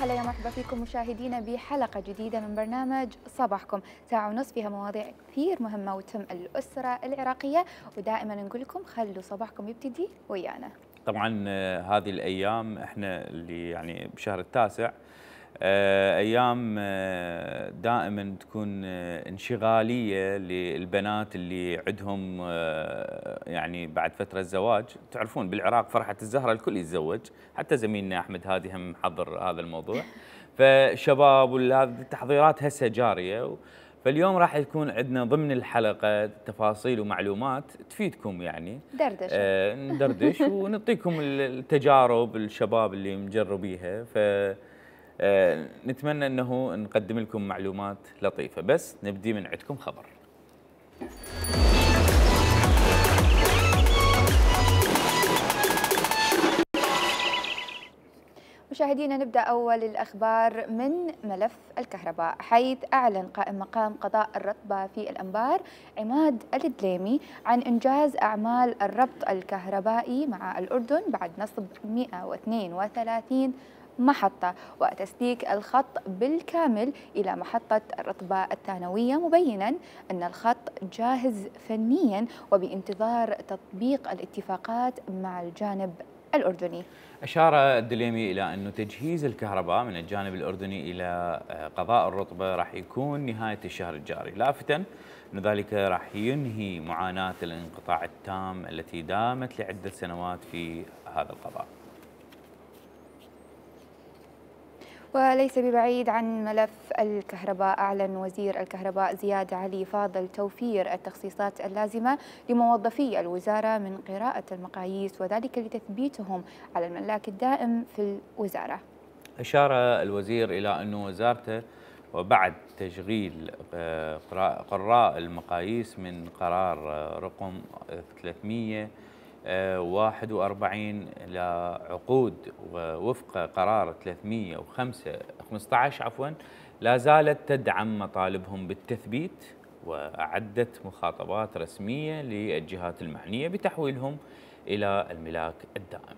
هلا يا مرحبا فيكم مشاهدينا بحلقة جديدة من برنامج صباحكم، ساعة ونص فيها مواضيع كثير مهمة وتهم الأسرة العراقية، ودائما نقول لكم خلوا صباحكم يبتدي ويانا. طبعا هذه الأيام احنا اللي يعني بشهر التاسع أيام دائما تكون انشغالية للبنات اللي عندهم يعني بعد فترة الزواج. تعرفون بالعراق فرحة الزهرة الكل يتزوج، حتى زميلنا أحمد هادي هم محضر هذا الموضوع. فشباب والتحضيرات هسه جارية، فاليوم راح يكون عندنا ضمن الحلقة تفاصيل ومعلومات تفيدكم، يعني دردشة ندردش ونعطيكم التجارب الشباب اللي مجربيها. ف نتمنى أنه نقدم لكم معلومات لطيفة. بس نبدي من عندكم خبر. مشاهدينا نبدأ أول الأخبار من ملف الكهرباء، حيث أعلن قائم مقام قضاء الرطبة في الأنبار عماد الدليمي عن إنجاز أعمال الربط الكهربائي مع الأردن بعد نصب 132 محطة وتسليك الخط بالكامل إلى محطة الرطبة الثانوية، مبينا أن الخط جاهز فنيا وبانتظار تطبيق الاتفاقات مع الجانب الأردني. أشار الدليمي إلى أن تجهيز الكهرباء من الجانب الأردني إلى قضاء الرطبة راح يكون نهاية الشهر الجاري، لافتا أن ذلك راح ينهي معاناة الانقطاع التام التي دامت لعدة سنوات في هذا القضاء. وليس ببعيد عن ملف الكهرباء، أعلن وزير الكهرباء زياد علي فاضل توفير التخصيصات اللازمة لموظفي الوزارة من قراءة المقاييس، وذلك لتثبيتهم على الملاك الدائم في الوزارة. أشار الوزير إلى أن وزارته وبعد تشغيل قراء المقاييس من قرار رقم 341 لعقود وفق قرار 315 لا زالت تدعم مطالبهم بالتثبيت، وأعدت مخاطبات رسمية للجهات المعنية بتحويلهم إلى الملاك الدائم.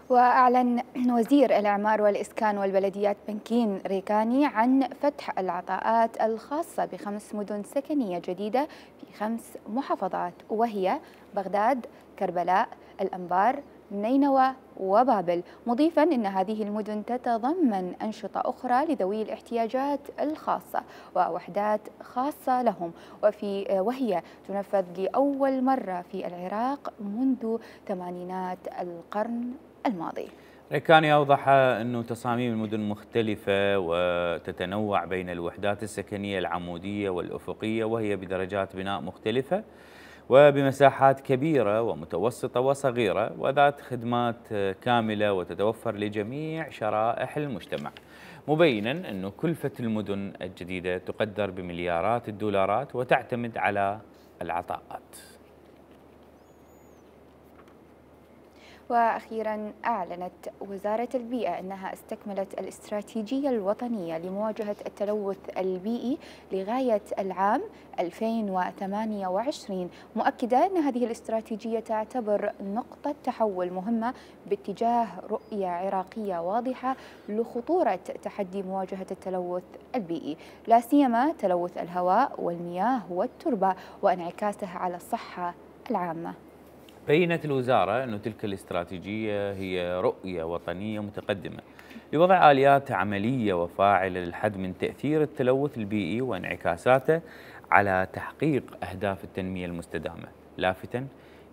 وأعلن وزير الإعمار والإسكان والبلديات بنكين ريكاني عن فتح العطاءات الخاصة ب5 مدن سكنية جديدة في 5 محافظات، وهي بغداد، كربلاء، الأنبار، نينوى وبابل، مضيفا أن هذه المدن تتضمن أنشطة أخرى لذوي الاحتياجات الخاصة ووحدات خاصة لهم، وهي تنفذ لأول مرة في العراق منذ ثمانينات القرن الماضي. ريكاني أوضح أنه تصاميم المدن مختلفة وتتنوع بين الوحدات السكنية العمودية والأفقية، وهي بدرجات بناء مختلفة وبمساحات كبيرة ومتوسطة وصغيرة وذات خدمات كاملة وتتوفر لجميع شرائح المجتمع، مبينا أن كلفة المدن الجديدة تقدر بمليارات الدولارات وتعتمد على العطاءات. وأخيرا أعلنت وزارة البيئة أنها استكملت الاستراتيجية الوطنية لمواجهة التلوث البيئي لغاية العام 2028، مؤكدة أن هذه الاستراتيجية تعتبر نقطة تحول مهمة باتجاه رؤية عراقية واضحة لخطورة تحدي مواجهة التلوث البيئي، لا سيما تلوث الهواء والمياه والتربة وانعكاسه على الصحة العامة. بينت الوزارة أن تلك الاستراتيجية هي رؤية وطنية متقدمة لوضع آليات عملية وفاعلة للحد من تأثير التلوث البيئي وانعكاساته على تحقيق أهداف التنمية المستدامة، لافتا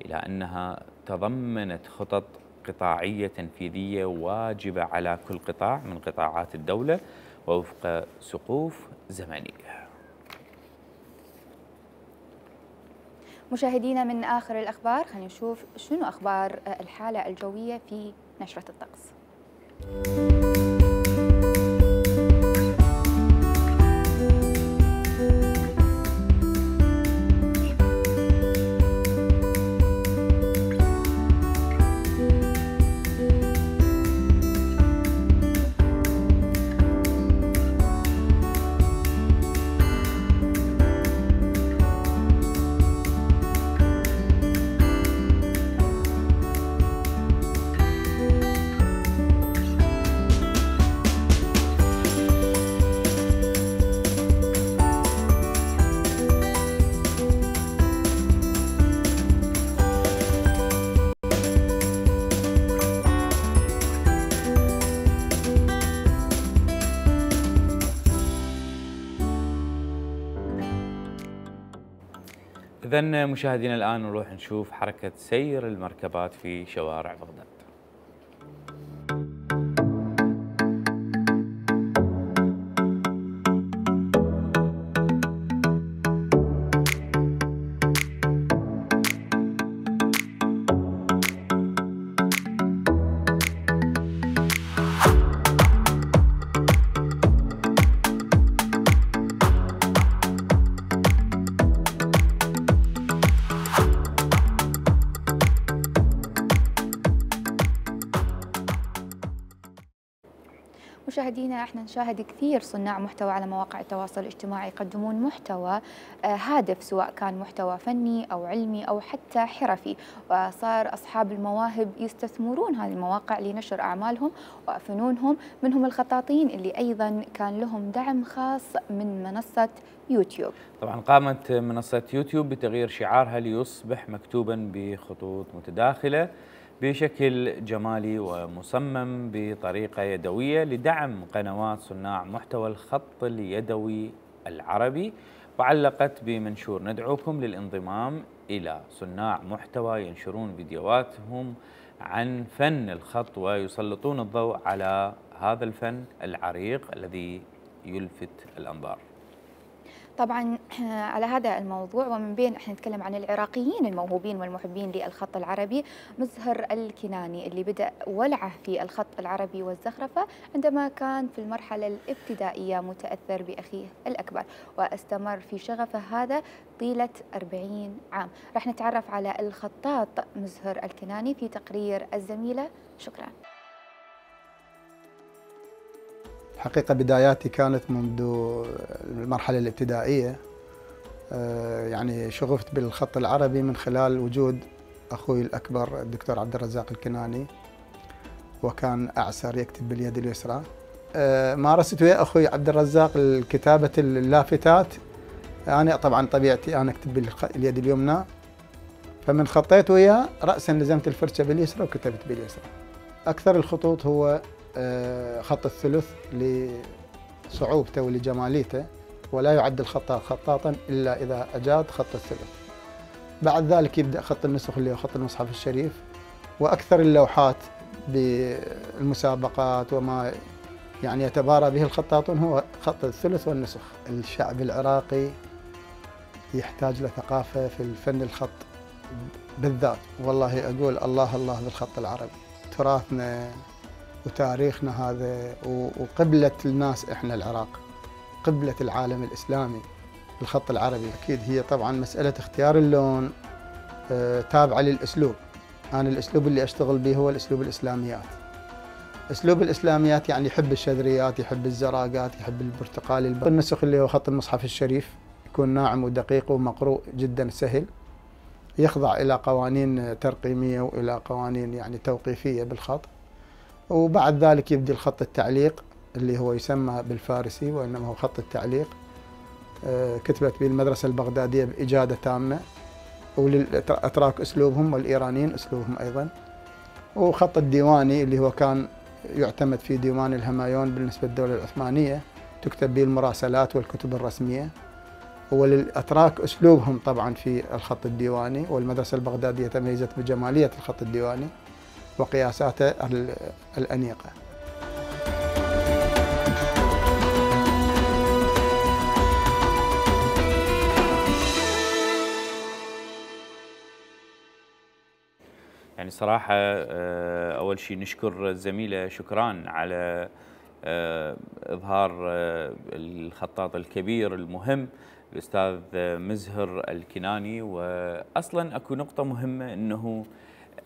إلى أنها تضمنت خطط قطاعية تنفيذية واجبة على كل قطاع من قطاعات الدولة ووفق سقوف زمنية. مشاهدينا من آخر الأخبار خلينا نشوف شنو أخبار الحالة الجوية في نشرة الطقس. إذن مشاهدينا الآن نروح نشوف حركة سير المركبات في شوارع بغداد. مشاهدينا احنا نشاهد كثير صناع محتوى على مواقع التواصل الاجتماعي يقدمون محتوى هادف، سواء كان محتوى فني او علمي او حتى حرفي، وصار اصحاب المواهب يستثمرون هذه المواقع لنشر اعمالهم وفنونهم، منهم الخطاطين اللي ايضا كان لهم دعم خاص من منصة يوتيوب. طبعا قامت منصة يوتيوب بتغيير شعارها ليصبح مكتوبا بخطوط متداخلة بشكل جمالي ومصمم بطريقة يدوية لدعم قنوات صناع محتوى الخط اليدوي العربي، وعلقت بمنشور: ندعوكم للانضمام إلى صناع محتوى ينشرون فيديوهاتهم عن فن الخط ويسلطون الضوء على هذا الفن العريق الذي يلفت الأنظار. طبعا على هذا الموضوع ومن بين احنا نتكلم عن العراقيين الموهوبين والمحبين للخط العربي، مزهر الكناني اللي بدأ ولعه في الخط العربي والزخرفة عندما كان في المرحلة الابتدائية متأثر بأخيه الأكبر، واستمر في شغفه هذا طيلة 40 عام. راح نتعرف على الخطاط مزهر الكناني في تقرير الزميلة. شكرا. حقيقة بداياتي كانت منذ المرحلة الابتدائية، يعني شغفت بالخط العربي من خلال وجود أخوي الأكبر الدكتور عبد الرزاق الكناني، وكان أعسر يكتب باليد اليسرى. مارست ويا أخوي عبد الرزاق الكتابة اللافتات، أنا طبعا طبيعتي أنا أكتب باليد اليمنى، فمن خطيت وياه رأسا لزمت الفرشة باليسرى وكتبت باليسرى. أكثر الخطوط هو خط الثلث لصعوبته ولجماليته، ولا يعد الخطاط خطاطا إلا إذا أجاد خط الثلث. بعد ذلك يبدأ خط النسخ اللي هو خط المصحف الشريف، وأكثر اللوحات بالمسابقات وما يعني يتبارى به الخطاطون هو خط الثلث والنسخ. الشعب العراقي يحتاج لثقافة في الفن الخط بالذات، والله أقول الله الله بالخط العربي، تراثنا وتاريخنا هذا وقبلة الناس. إحنا العراق قبلة العالم الإسلامي الخط العربي. أكيد هي طبعا مسألة اختيار اللون تابعة للأسلوب. أنا الأسلوب اللي أشتغل به هو الأسلوب الإسلاميات. أسلوب الإسلاميات يعني يحب الشذريات، يحب الزراقات، يحب البرتقالي. النسخ اللي هو خط المصحف الشريف يكون ناعم ودقيق ومقروء جدا سهل، يخضع إلى قوانين ترقيمية وإلى قوانين يعني توقيفية بالخط. وبعد ذلك يبدي الخط التعليق اللي هو يسمى بالفارسي وإنما هو خط التعليق، كتبت به المدرسة البغدادية بإجادة تامة، وللأتراك أسلوبهم والإيرانيين أسلوبهم أيضا. وخط الديواني اللي هو كان يعتمد في ديوان الهمايون بالنسبة للدولة العثمانية، تكتب به المراسلات والكتب الرسمية. وللأتراك أسلوبهم طبعا في الخط الديواني، والمدرسة البغدادية تميزت بجمالية الخط الديواني وقياساته الأنيقة. يعني صراحة أول شيء نشكر الزميلة شكران على إظهار الخطاط الكبير المهم الأستاذ مزهر الكناني. وأصلا أكو نقطة مهمة، أنه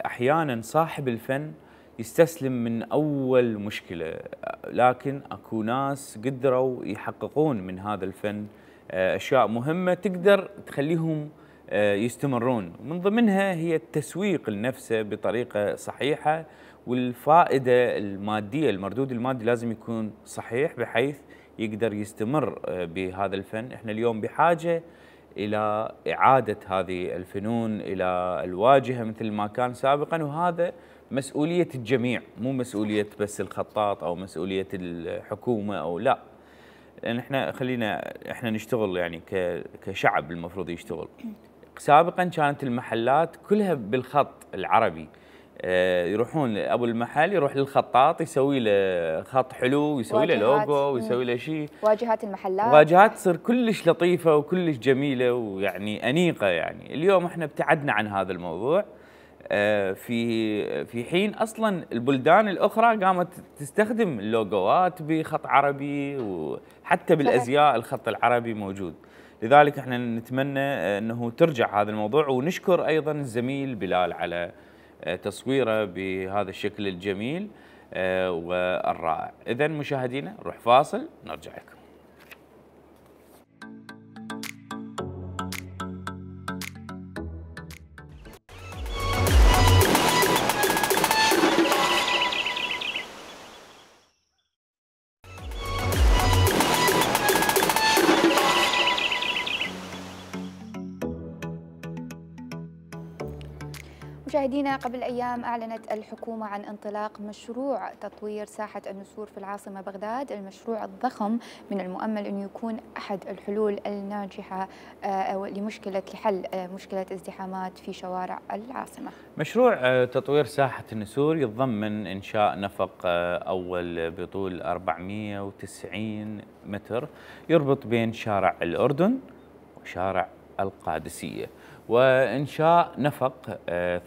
أحيانا صاحب الفن يستسلم من أول مشكلة، لكن أكو ناس قدروا يحققون من هذا الفن أشياء مهمة تقدر تخليهم يستمرون. من ضمنها هي التسويق لنفسه بطريقة صحيحة، والفائدة المادية، المردود المادي لازم يكون صحيح بحيث يقدر يستمر بهذا الفن. احنا اليوم بحاجة إلى إعادة هذه الفنون إلى الواجهة مثل ما كان سابقا، وهذا مسؤولية الجميع، مو مسؤولية بس الخطاط أو مسؤولية الحكومة أو لا. لأن احنا خلينا احنا نشتغل يعني كشعب، المفروض يشتغل. سابقا كانت المحلات كلها بالخط العربي، يروحون ابو المحل يروح للخطاط يسوي له خط حلو ويسوي له لوجو ويسوي له شيء. واجهات المحلات واجهات تصير كلش لطيفه وكلش جميله ويعني انيقه. يعني اليوم احنا ابتعدنا عن هذا الموضوع، في حين اصلا البلدان الاخرى قامت تستخدم اللوجوات بخط عربي، وحتى بالازياء الخط العربي موجود. لذلك احنا نتمنى انه ترجع هذا الموضوع، ونشكر ايضا الزميل بلال على تصويره بهذا الشكل الجميل والرائع. اذا مشاهدينا نروح فاصل نرجع لكم. مشاهدينا، قبل أيام أعلنت الحكومة عن انطلاق مشروع تطوير ساحة النسور في العاصمة بغداد. المشروع الضخم من المؤمل أن يكون أحد الحلول الناجحة لحل مشكلة ازدحامات في شوارع العاصمة. مشروع تطوير ساحة النسور يتضمن إنشاء نفق أول بطول 490 متر يربط بين شارع الأردن وشارع القادسية، وإنشاء نفق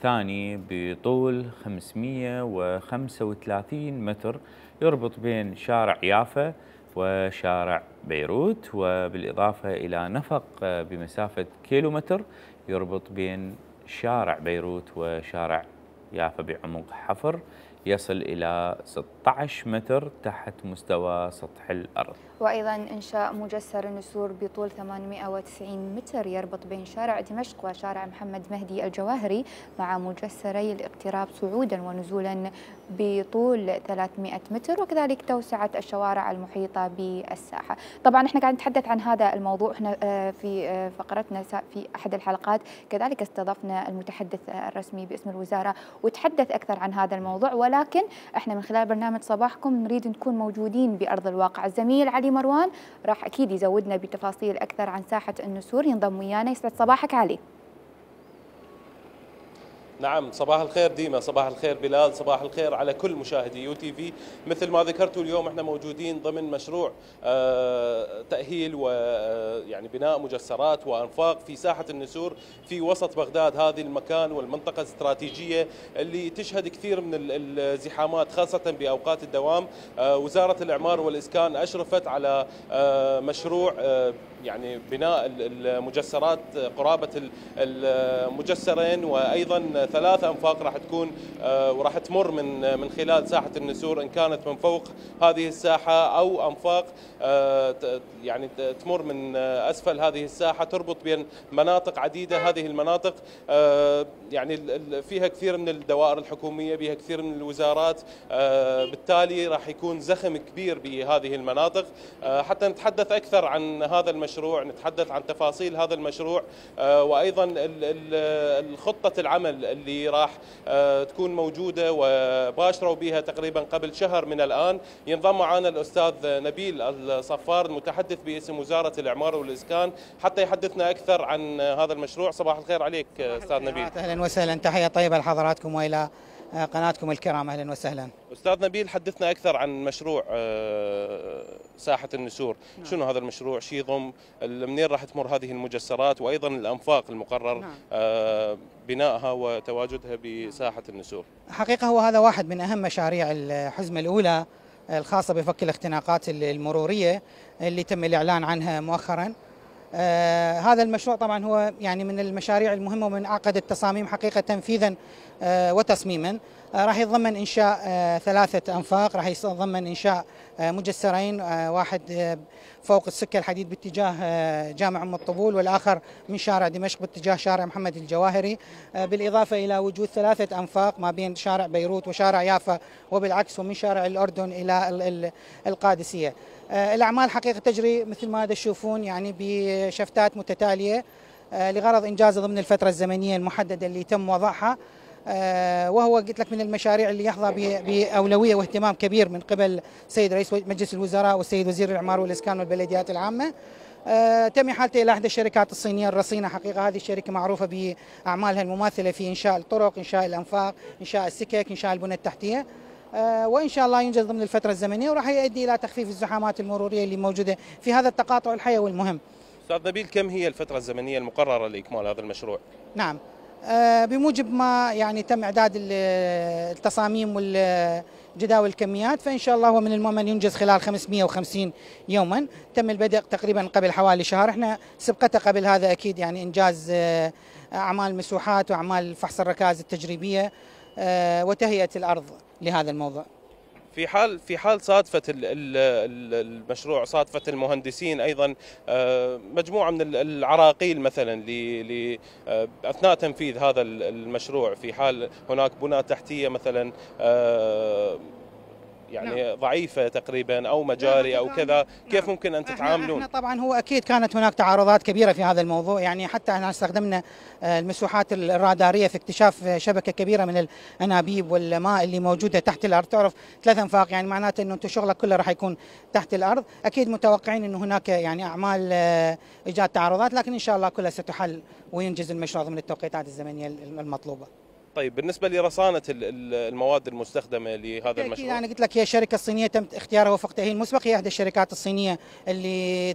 ثاني بطول 535 متر يربط بين شارع يافا وشارع بيروت، وبالإضافة إلى نفق بمسافة كيلومتر يربط بين شارع بيروت وشارع يافا بعمق حفر يصل إلى 16 متر تحت مستوى سطح الأرض. وأيضا إنشاء مجسر النسور بطول 890 متر يربط بين شارع دمشق وشارع محمد مهدي الجواهري مع مجسري الاقتراب صعودا ونزولا بطول 300 متر، وكذلك توسعة الشوارع المحيطة بالساحة. طبعا احنا قاعد نتحدث عن هذا الموضوع، احنا في فقرتنا في أحد الحلقات كذلك استضفنا المتحدث الرسمي باسم الوزارة وتحدث أكثر عن هذا الموضوع، ولكن احنا من خلال برنامج صباحكم نريد نكون موجودين بأرض الواقع. الزميل علي مروان راح أكيد يزودنا بتفاصيل أكثر عن ساحة النسور، ينضم ويانا. يسعد صباحك علي. نعم، صباح الخير ديما، صباح الخير بلال، صباح الخير على كل مشاهدي يو تي في. مثل ما ذكرتوا اليوم احنا موجودين ضمن مشروع تأهيل ويعني بناء مجسرات وأنفاق في ساحة النسور في وسط بغداد. هذه المكان والمنطقة الاستراتيجية اللي تشهد كثير من الزحامات خاصة بأوقات الدوام. وزارة الإعمار والإسكان أشرفت على مشروع يعني بناء المجسرات، قرابة المجسرين وأيضا 3 أنفاق راح تكون وراح تمر من خلال ساحة النسور، إن كانت من فوق هذه الساحة أو أنفاق يعني تمر من أسفل هذه الساحة تربط بين مناطق عديدة. هذه المناطق يعني فيها كثير من الدوائر الحكومية، بها كثير من الوزارات، بالتالي راح يكون زخم كبير بهذه المناطق. حتى نتحدث أكثر عن هذا المشروع، نتحدث عن تفاصيل هذا المشروع وأيضا الخطة العمل اللي راح تكون موجودة وباشروا بها تقريبا قبل شهر من الآن. ينضم معنا الأستاذ نبيل الصفار المتحدث باسم وزارة الإعمار والإسكان حتى يحدثنا أكثر عن هذا المشروع. صباح الخير عليك أستاذ نبيل. أهلا وسهلا، تحية طيبة لحضراتكم وإلى قناتكم الكرام. أهلا وسهلا. أستاذ نبيل، حدثنا أكثر عن مشروع ساحة النسور. شنو هذا المشروع؟ شو يضم؟ منين راح تمر هذه المجسرات وأيضا الأنفاق المقرر بنائها وتواجدها بساحة النسور؟ حقيقة هو هذا واحد من أهم مشاريع الحزمة الأولى الخاصة بفك الاختناقات المرورية اللي تم الإعلان عنها مؤخرا. هذا المشروع طبعا هو يعني من المشاريع المهمة ومن أعقد التصاميم حقيقة تنفيذا وتصميما. راح يتضمن إنشاء 3 أنفاق، راح يتضمن إنشاء مجسرين، واحد فوق السكة الحديد باتجاه جامع أم الطبول والآخر من شارع دمشق باتجاه شارع محمد الجواهري، بالإضافة إلى وجود 3 أنفاق ما بين شارع بيروت وشارع يافا وبالعكس، ومن شارع الأردن إلى القادسية. الأعمال حقيقة تجري مثل ما تشوفون يعني بشفتات متتالية لغرض إنجازها ضمن الفترة الزمنية المحددة اللي تم وضعها، وهو قلت لك من المشاريع اللي يحظى بأولوية واهتمام كبير من قبل السيد رئيس مجلس الوزراء والسيد وزير الإعمار والإسكان والبلديات العامة. تم احالته الى احدى الشركات الصينيه الرصينه. حقيقه هذه الشركه معروفه باعمالها المماثله في انشاء الطرق، انشاء الانفاق، انشاء السكك، انشاء البنى التحتيه. وان شاء الله ينجز ضمن الفتره الزمنيه وراح يؤدي الى تخفيف الزحامات المروريه اللي موجوده في هذا التقاطع الحيوي المهم. استاذ نبيل، كم هي الفتره الزمنيه المقرره لاكمال هذا المشروع؟ نعم، بموجب ما يعني تم اعداد التصاميم والجداول الكميات، فان شاء الله هو من المؤمن ينجز خلال 550 يوما. تم البدء تقريبا قبل حوالي شهر. احنا سبقته قبل هذا اكيد يعني انجاز اعمال مسوحات واعمال فحص الركائز التجريبيه وتهيئه الارض لهذا الموضوع. في حال صادفة المشروع، صادفة المهندسين أيضا مجموعة من العراقيل مثلا أثناء تنفيذ هذا المشروع، في حال هناك بنى تحتية مثلا يعني نعم. ضعيفة تقريبا أو مجاري أو كذا، نعم. كيف ممكن أن تتعاملون؟ احنا طبعا هو أكيد كانت هناك تعارضات كبيرة في هذا الموضوع، يعني حتى احنا استخدمنا المسوحات الرادارية في اكتشاف شبكة كبيرة من الأنابيب والماء اللي موجودة تحت الأرض. تعرف 3 أنفاق يعني معناته أنه أنت شغلك كله راح يكون تحت الأرض. أكيد متوقعين أنه هناك يعني أعمال إيجاد تعارضات، لكن إن شاء الله كلها ستحل وينجز المشروع ضمن التوقيتات الزمنية المطلوبة. طيب بالنسبة لرصانة المواد المستخدمة لهذا المشروع؟ أنا قلت لك هي الشركة الصينية تم اختيارها وفق تأهيل مسبق، هي إحدى الشركات الصينية اللي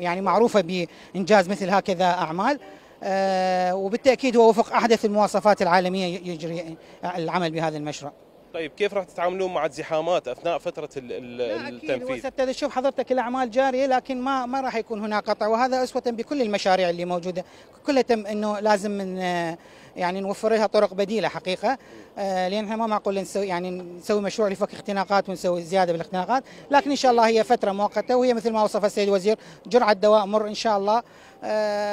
يعني معروفة بإنجاز مثل هكذا أعمال، وبالتأكيد هو وفق أحدث المواصفات العالمية يجري العمل بهذا المشروع. طيب كيف راح تتعاملون مع الزحامات اثناء فتره التنفيذ؟ أكيد تشوف حضرتك الاعمال جاريه، لكن ما راح يكون هناك قطع، وهذا اسوه بكل المشاريع اللي موجوده كلها تم انه لازم من يعني نوفر لها طرق بديله حقيقه، لان احنا ما معقول نسوي مشروع لفك اختناقات ونسوي زياده بالاختناقات، لكن ان شاء الله هي فتره مؤقته، وهي مثل ما وصف السيد الوزير جرعه دواء مر ان شاء الله.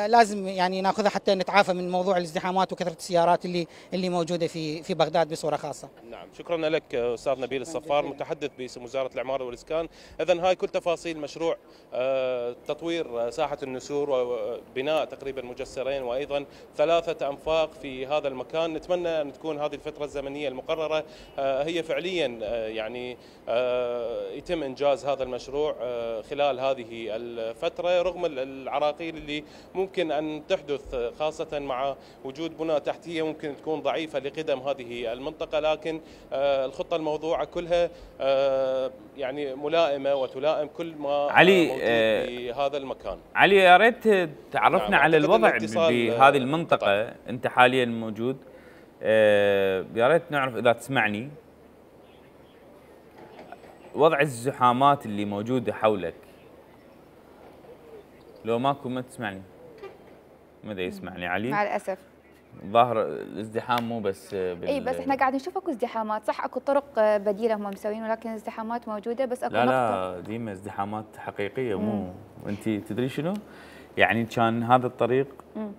لازم يعني ناخذها حتى نتعافى من موضوع الازدحامات وكثره السيارات اللي موجوده في بغداد بصوره خاصه. نعم، شكرا لك استاذ نبيل الصفار متحدث باسم وزاره العماره والاسكان. اذا هاي كل تفاصيل مشروع تطوير ساحه النسور وبناء تقريبا مجسرين وايضا 3 انفاق في هذا المكان. نتمنى ان تكون هذه الفتره الزمنيه المقرره هي فعليا يعني يتم انجاز هذا المشروع خلال هذه الفتره، رغم العراقيل اللي ممكن أن تحدث خاصة مع وجود بنى تحتية ممكن تكون ضعيفة لقدم هذه المنطقة، لكن الخطة الموضوعة كلها يعني ملائمة وتلائم كل ما علي موجود في هذا المكان. علي يا ريت تعرفنا نعم على الوضع بهذه المنطقة. أنت حاليا موجود، يا ريت نعرف إذا تسمعني وضع الزحامات اللي موجودة حولك. لو ماكو ما تسمعني، ما دا يسمعني علي مع الاسف. ظاهر الازدحام مو بس اي بس احنا قاعد نشوف اكو ازدحامات، صح اكو طرق بديله هم مسوين، ولكن الازدحامات موجوده، بس اكو لا ديما ازدحامات حقيقيه. مو انت تدري شنو يعني؟ كان هذا الطريق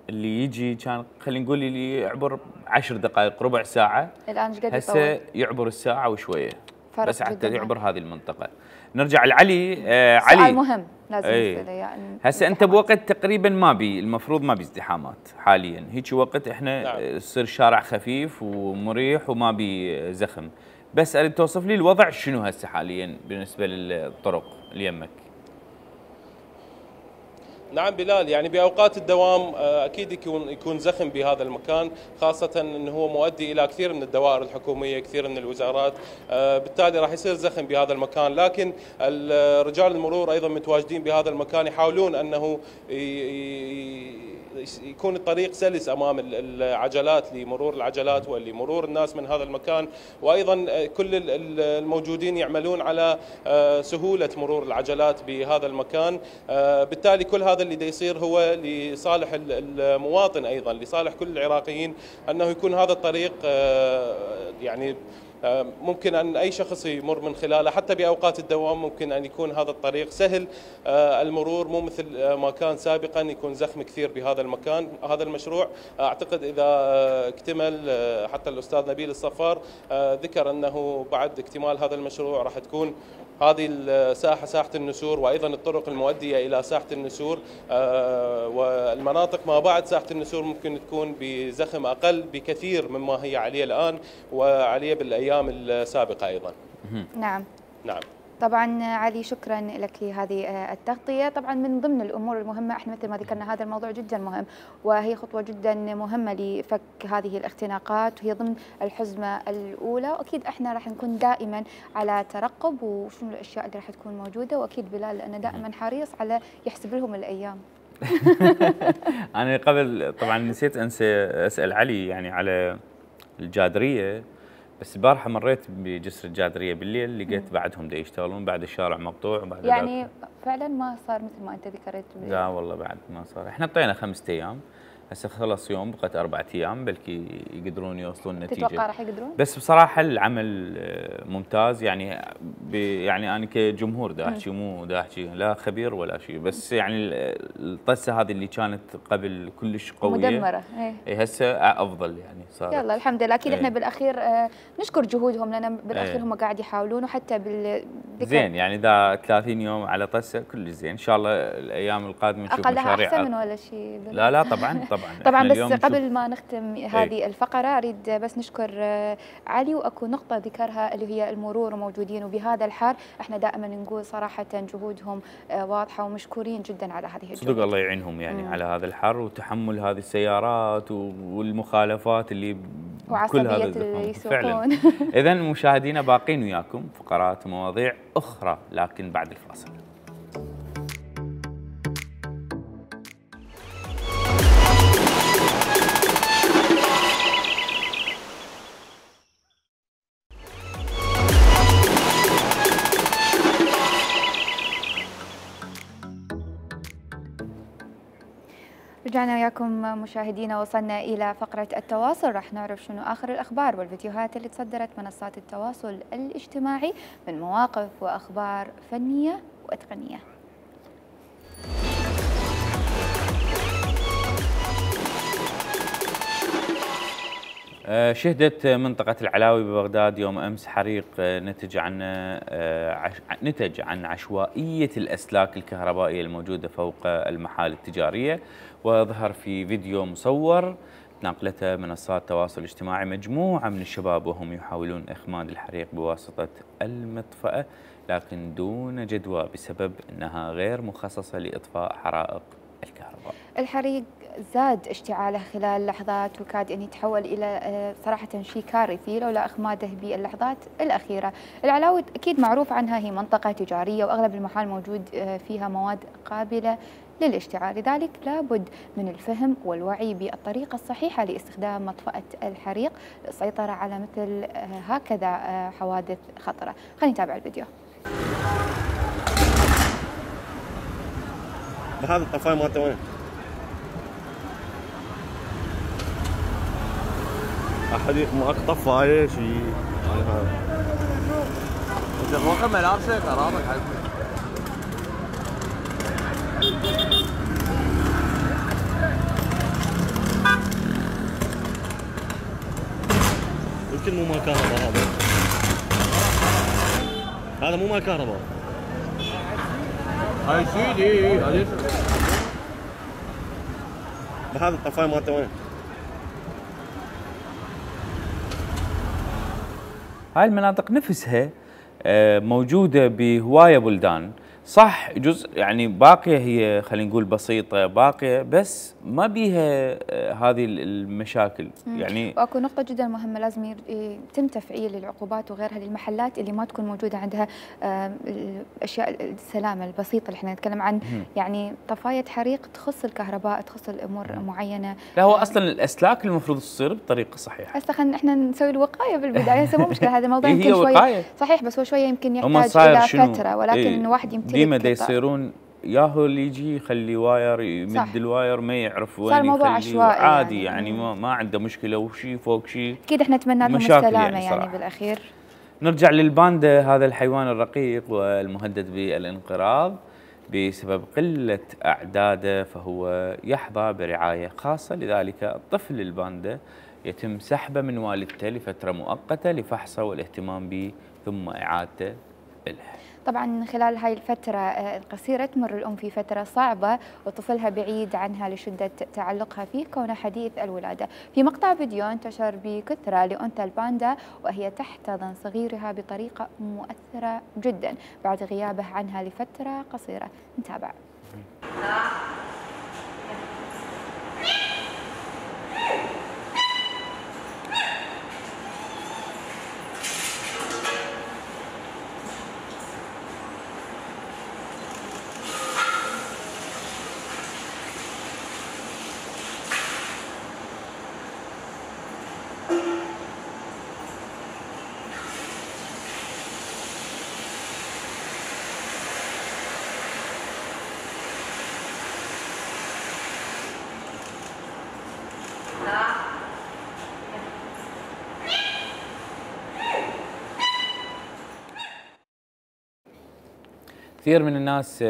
اللي يجي كان خلينا نقول اللي يعبر 10 دقائق ربع ساعه، الان ايش قد هسه يعبر الساعه وشويه بس حتى يعبر هذه المنطقه. نرجع لعلي. علي سؤال مهم لازم نساله يعني هسه انت بوقت تقريبا المفروض ما بي ازدحامات حاليا، هيك وقت احنا يصير الشارع خفيف ومريح وما بي زخم، بس اريد توصف لي الوضع شنو هسه حاليا بالنسبه للطرق اللي يمك. نعم بلال، يعني باوقات الدوام اكيد يكون زخم بهذا المكان، خاصه انه هو مؤدي الى كثير من الدوائر الحكوميه، كثير من الوزارات، بالتالي راح يصير زخم بهذا المكان، لكن رجال المرور ايضا متواجدين بهذا المكان يحاولون انه يكون الطريق سلس امام العجلات لمرور العجلات ولمرور الناس من هذا المكان، وايضا كل الموجودين يعملون على سهوله مرور العجلات بهذا المكان. بالتالي كل هذا اللي دا يصير هو لصالح المواطن، ايضا لصالح كل العراقيين، انه يكون هذا الطريق يعني ممكن أن أي شخص يمر من خلاله، حتى بأوقات الدوام ممكن أن يكون هذا الطريق سهل المرور، مو مثل ما كان سابقا يكون زخم كثير بهذا المكان. هذا المشروع أعتقد إذا اكتمل، حتى الأستاذ نبيل الصفار ذكر أنه بعد اكتمال هذا المشروع راح تكون هذه الساحة ساحة النسور، وأيضا الطرق المؤدية إلى ساحة النسور والمناطق ما بعد ساحة النسور ممكن تكون بزخم أقل بكثير مما هي عليه الآن وعليه بالأيام السابقة أيضا. نعم. نعم. طبعا علي شكرا لك لهذه التغطية. طبعا من ضمن الأمور المهمة احنا مثل ما ذكرنا هذا الموضوع جدا مهم، وهي خطوة جدا مهمة لفك هذه الاختناقات، وهي ضمن الحزمة الأولى، وأكيد احنا راح نكون دائما على ترقب وشنو الأشياء اللي راح تكون موجودة، وأكيد بلال لأنه دائما حريص على يحسب لهم الأيام. أنا قبل طبعا نسيت أسأل علي يعني على الجادرية، بس البارحة مريت بجسر الجادرية بالليل لقيت بعدهم دا يشتغلون، بعد الشارع مقطوع وبعد يعني فعلا ما صار مثل ما أنت ذكرت. لا والله بعد ما صار، احنا طينا 5 أيام، هسه خلص يوم بقت 4 أيام بلكي يقدرون يوصلون نتيجة. تتوقع راح يقدرون؟ بس بصراحة العمل ممتاز، يعني يعني أنا كجمهور دا أحكي، مو دا أحكي لا خبير ولا شيء، بس يعني الطسة هذه اللي كانت قبل كلش قوية مدمرة. هسه أفضل يعني صارت. يلا الحمد لله. أكيد احنا بالأخير نشكر جهودهم، لأن بالأخير هم قاعد يحاولون، وحتى زين يعني دا 30 يوم على طسة كلش زين. إن شاء الله الأيام القادمة نشوف مشاريع أحسن من ولا شيء. لا طبعا طبعا. بس قبل ما نختم هذه الفقرة أريد بس نشكر علي، وأكو نقطة ذكرها اللي هي المرور موجودين، وبهذا الحر احنا دائما نقول صراحة جهودهم واضحة ومشكورين جدا على هذه الجهود. صدق الله يعينهم يعني على هذا الحر وتحمل هذه السيارات والمخالفات اللي كل هذا اللي فعلا. إذا مشاهدينا باقين وياكم فقرات ومواضيع أخرى لكن بعد الفاصل. رجعنا وياكم مشاهدينا، وصلنا إلى فقرة التواصل، راح نعرف شنو آخر الأخبار والفيديوهات اللي تصدرت منصات التواصل الاجتماعي من مواقف وأخبار فنية وتقنية. شهدت منطقة العلاوي ببغداد يوم أمس حريق نتج عن عشوائية الأسلاك الكهربائية الموجودة فوق المحال التجارية، وظهر في فيديو مصور نقلته منصات التواصل الاجتماعي مجموعة من الشباب وهم يحاولون إخماد الحريق بواسطة المطفأة، لكن دون جدوى بسبب أنها غير مخصصة لإطفاء حرائق الكهرباء. الحريق زاد اشتعاله خلال لحظات وكاد أن يتحول إلى صراحة شيء كارثي لولا إخماده باللحظات الأخيرة. العلاوي أكيد معروف عنها هي منطقة تجارية، وأغلب المحال موجود فيها مواد قابلة للاشتعال، لذلك لابد من الفهم والوعي بالطريقة الصحيحة لاستخدام مطفأة الحريق للسيطرة على مثل هكذا حوادث خطرة. خلينا نتابع الفيديو. هذا الطفاية مالته وين؟ أحد ماك طفاية شيء يعني هذا. أنت فوق ملابسك أراضك حبيبي. يمكن مو مال كهرباء هذا مو مال كهرباء. هاي سيدي هذه هذا الطفاية مالته وين؟ هاي المناطق نفسها موجودة بهواية بلدان، صح جزء يعني باقية هي خلينا نقول بسيطة باقية، بس ما بيها هذه المشاكل يعني. واكو نقطة جدا مهمة، لازم يتم تفعيل العقوبات وغيرها للمحلات اللي ما تكون موجودة عندها الأشياء السلامة البسيطة اللي احنا نتكلم عن، يعني طفاية حريق تخص الكهرباء تخص الأمور معينة. لا هو أصلا الأسلاك المفروض تصير بطريقة صحيحة. هسه خلينا احنا نسوي الوقاية بالبداية، هسه مو مشكلة هذا الموضوع يمكن شوية صحيح، بس هو شوية يمكن يحتاج إلى فترة، ولكن إنه واحد يمتلك ديما دا يصيرون ياهو اللي يجي يخلي واير يمد الواير ما يعرف وين يخليه عادي يعني ما عنده مشكله وشي فوق شيء. اكيد احنا نتمنى لهم السلامه يعني بالاخير. نرجع للباندا، هذا الحيوان الرقيق والمهدد بالانقراض بسبب قله اعداده، فهو يحظى برعايه خاصه، لذلك الطفل الباندا يتم سحبه من والدته لفتره مؤقته لفحصه والاهتمام به ثم اعادته له. طبعا خلال هاي الفترة القصيرة تمر الأم في فترة صعبة وطفلها بعيد عنها لشدة تعلقها فيه كونه حديث الولادة. في مقطع فيديو انتشر بكثرة لأنثى الباندا وهي تحتضن صغيرها بطريقة مؤثرة جدا بعد غيابه عنها لفترة قصيرة. نتابع. كثير من الناس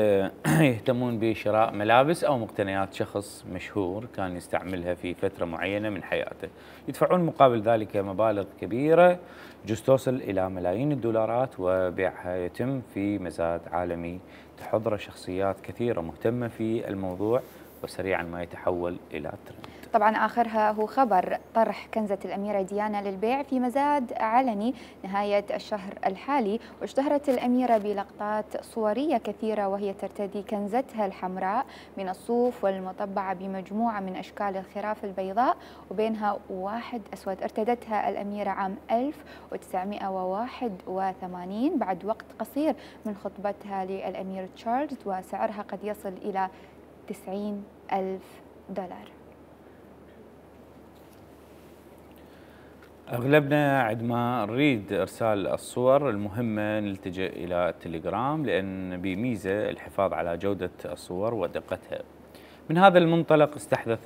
يهتمون بشراء ملابس أو مقتنيات شخص مشهور كان يستعملها في فترة معينة من حياته، يدفعون مقابل ذلك مبالغ كبيرة جزء توصل إلى ملايين الدولارات، وبيعها يتم في مزاد عالمي تحضره شخصيات كثيرة مهتمة في الموضوع، وسريعا ما يتحول إلى ترند. طبعا آخرها هو خبر طرح كنزة الأميرة ديانا للبيع في مزاد علني نهاية الشهر الحالي، واشتهرت الأميرة بلقطات صورية كثيرة وهي ترتدي كنزتها الحمراء من الصوف والمطبعة بمجموعة من أشكال الخراف البيضاء وبينها واحد أسود. ارتدتها الأميرة عام 1981 بعد وقت قصير من خطبتها للأمير تشارلز، وسعرها قد يصل إلى $90,000. أغلبنا عندما نريد إرسال الصور المهمة نلتجئ إلى التليجرام، لأن بميزة الحفاظ على جودة الصور ودقتها. من هذا المنطلق استحدث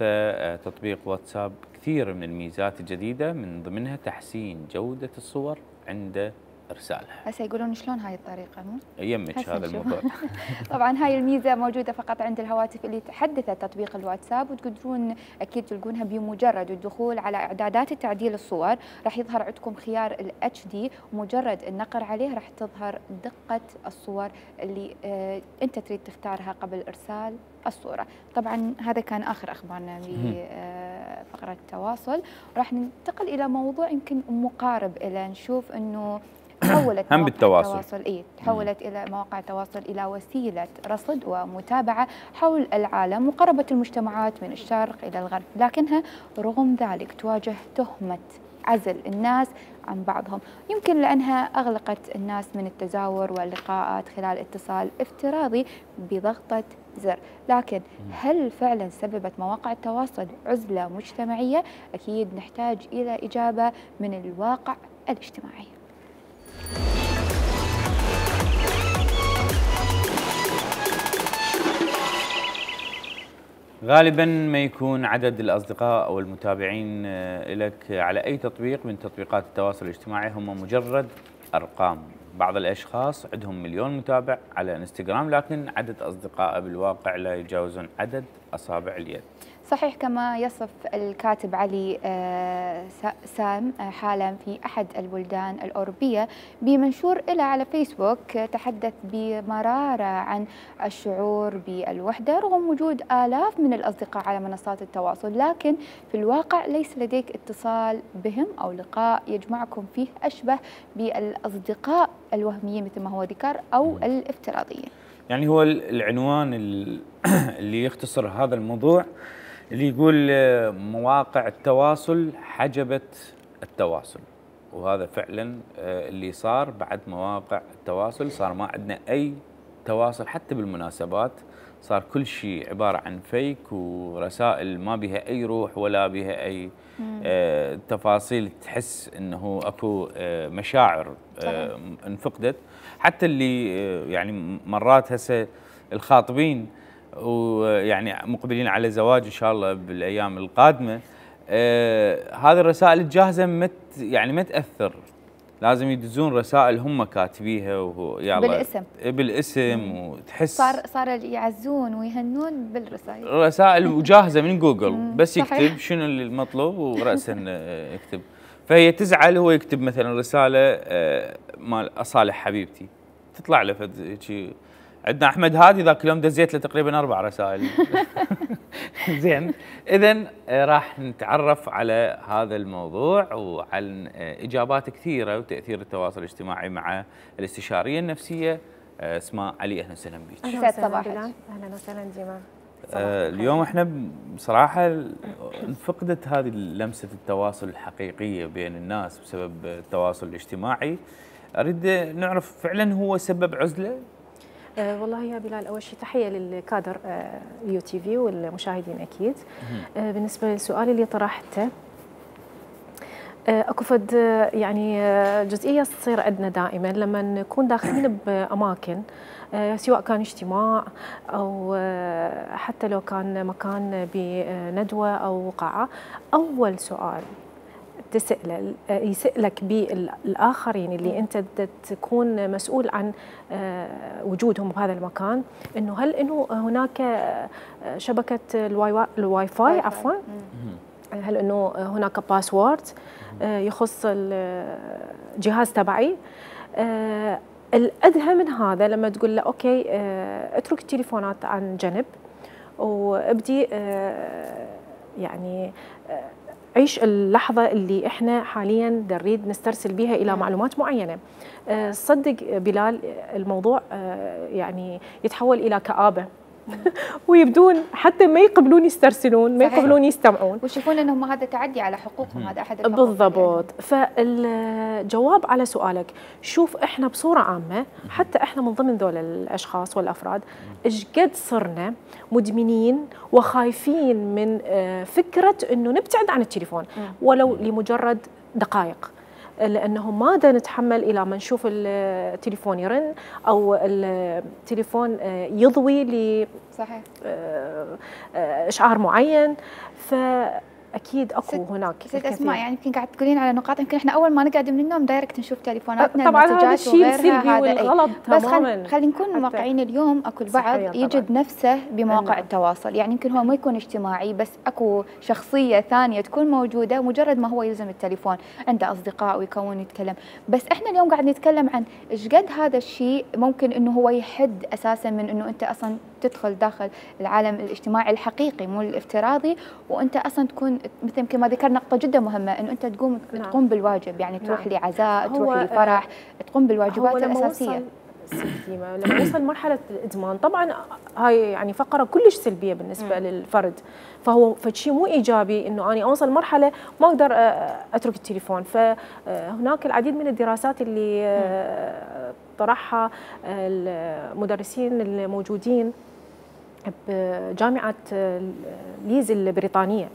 تطبيق واتساب كثير من الميزات الجديدة، من ضمنها تحسين جودة الصور عند إرسالها. هسه يقولون شلون هاي الطريقة مو؟ يمك هذا الموضوع. طبعا هاي الميزة موجودة فقط عند الهواتف اللي تحدثت تطبيق الواتساب، وتقدرون أكيد تلقونها بمجرد الدخول على إعدادات تعديل الصور راح يظهر عندكم خيار ال HD، ومجرد النقر عليه راح تظهر دقة الصور اللي أنت تريد تختارها قبل إرسال الصورة. طبعا هذا كان آخر أخبارنا بفقرة التواصل، راح ننتقل إلى موضوع يمكن مقارب إلى نشوف أنه تحولت هم بالتواصل تحولت إلى مواقع التواصل إلى وسيلة رصد ومتابعة حول العالم، وقربت المجتمعات من الشرق إلى الغرب، لكنها رغم ذلك تواجه تهمة عزل الناس عن بعضهم، يمكن لأنها أغلقت الناس من التزاور واللقاءات خلال اتصال افتراضي بضغطة زر. لكن هل فعلا سببت مواقع التواصل عزلة مجتمعية؟ أكيد نحتاج إلى إجابة من الواقع الاجتماعي. غالبا ما يكون عدد الأصدقاء أو المتابعين لك على أي تطبيق من تطبيقات التواصل الاجتماعي هم مجرد أرقام. بعض الأشخاص عندهم مليون متابع على انستغرام، لكن عدد أصدقائه بالواقع لا يتجاوزون عدد أصابع اليد. صحيح، كما يصف الكاتب علي سام حالا في أحد البلدان الأوروبية بمنشور له على فيسبوك تحدث بمرارة عن الشعور بالوحدة رغم وجود آلاف من الأصدقاء على منصات التواصل، لكن في الواقع ليس لديك اتصال بهم أو لقاء يجمعكم فيه أشبه بالأصدقاء الوهميين مثل ما هو ذكر أو الافتراضيين. يعني هو العنوان اللي يختصر هذا الموضوع اللي يقول مواقع التواصل حجبت التواصل، وهذا فعلا اللي صار. بعد مواقع التواصل صار ما عندنا أي تواصل حتى بالمناسبات، صار كل شيء عبارة عن فيك ورسائل ما بها أي روح ولا بها أي تفاصيل تحس أنه أكو مشاعر انفقدت. حتى اللي يعني مرات هسه الخاطبين ويعني مقبلين على زواج إن شاء الله بالأيام القادمة، هذه الرسائل الجاهزة ما تأثر، لازم يدزون رسائل هم كاتبيها وهو بالاسم وتحس صار يعزون ويهنون بالرسائل، رسائل جاهزة من جوجل بس يكتب شنو المطلوب ورأسا يكتب. فهي تزعل، هو يكتب مثلا رسالة مال أصالح حبيبتي، تطلع له شيء. عندنا احمد هادي ذاك اليوم دزيت له تقريبا 4 رسائل. زين، اذا راح نتعرف على هذا الموضوع وعن اجابات كثيره وتاثير التواصل الاجتماعي مع الاستشاريه النفسيه اسماء علي. اهلا وسهلا بك. اهلا وسهلا بلال. اهلا وسهلا ديما. اليوم احنا بصراحه فقدت هذه لمسه التواصل الحقيقيه بين الناس بسبب التواصل الاجتماعي. اريد نعرف فعلا هو سبب عزله؟ والله يا بلال، اول شيء تحيه للكادر اليو تي في والمشاهدين اكيد. بالنسبه للسؤال اللي طرحته، اكو فد يعني جزئيه تصير عندنا دائما لما نكون داخلين باماكن، سواء كان اجتماع او حتى لو كان مكان بندوه او قاعه. اول سؤال يسألك بالآخرين اللي أنت تكون مسؤول عن وجودهم بهذا المكان، إنه هل إنه هناك شبكة الواي فاي عفوا، هل إنه هناك باسورد يخص الجهاز تبعي. الأدهى من هذا لما تقول له أوكي اترك التليفونات عن جنب وابدي يعني عيش اللحظة اللي احنا حاليا نريد نسترسل بها إلى معلومات معينة. صدق بلال الموضوع يعني يتحول إلى كآبة. ويبدون حتى ما يقبلون يسترسلون، ما يقبلون يستمعون، ويشوفون انهم هذا تعدي على حقوقهم. هذا احد الحقوق بالضبط. فالجواب على سؤالك، شوف احنا بصوره عامه حتى احنا من ضمن ذول الاشخاص والافراد ايش قد صرنا مدمنين وخايفين من فكره انه نبتعد عن التليفون ولو لمجرد دقائق، لأنه ما دا نتحمل إلى ما نشوف التليفون يرن أو التليفون يضوي ل صحيح إشعار معين. فأكيد أكو هناك ست أسماء، يعني يمكن قاعد تقولين على نقاط يمكن إحنا أول ما نقعد من النوم دايركت نشوف تليفوناتنا، طبعا هذا الشيء السلبي والغلط بس تماما. خلينا نكون واقعيين. اليوم اكو البعض يجد نفسه بمواقع التواصل، يعني يمكن هو ما يكون اجتماعي بس اكو شخصيه ثانيه تكون موجوده مجرد ما هو يلزم التليفون، عنده اصدقاء ويكون يتكلم. بس احنا اليوم قاعد نتكلم عن ايش قد هذا الشيء ممكن انه هو يحد اساسا من انه انت اصلا تدخل داخل العالم الاجتماعي الحقيقي مو الافتراضي، وانت اصلا تكون مثل ما ذكر نقطه جدا مهمه انه انت تقوم بالواجب، يعني تروح لعزاء، تروح لفرح، تقوم بالواجبات الاساسيه. لما يوصل مرحله الادمان طبعا هاي يعني فقره كلش سلبيه بالنسبه للفرد، فهو فشيء مو ايجابي انه انا اوصل مرحله ما اقدر اترك التليفون. فهناك العديد من الدراسات اللي طرحها المدرسين الموجودين بجامعه ليز البريطانيه،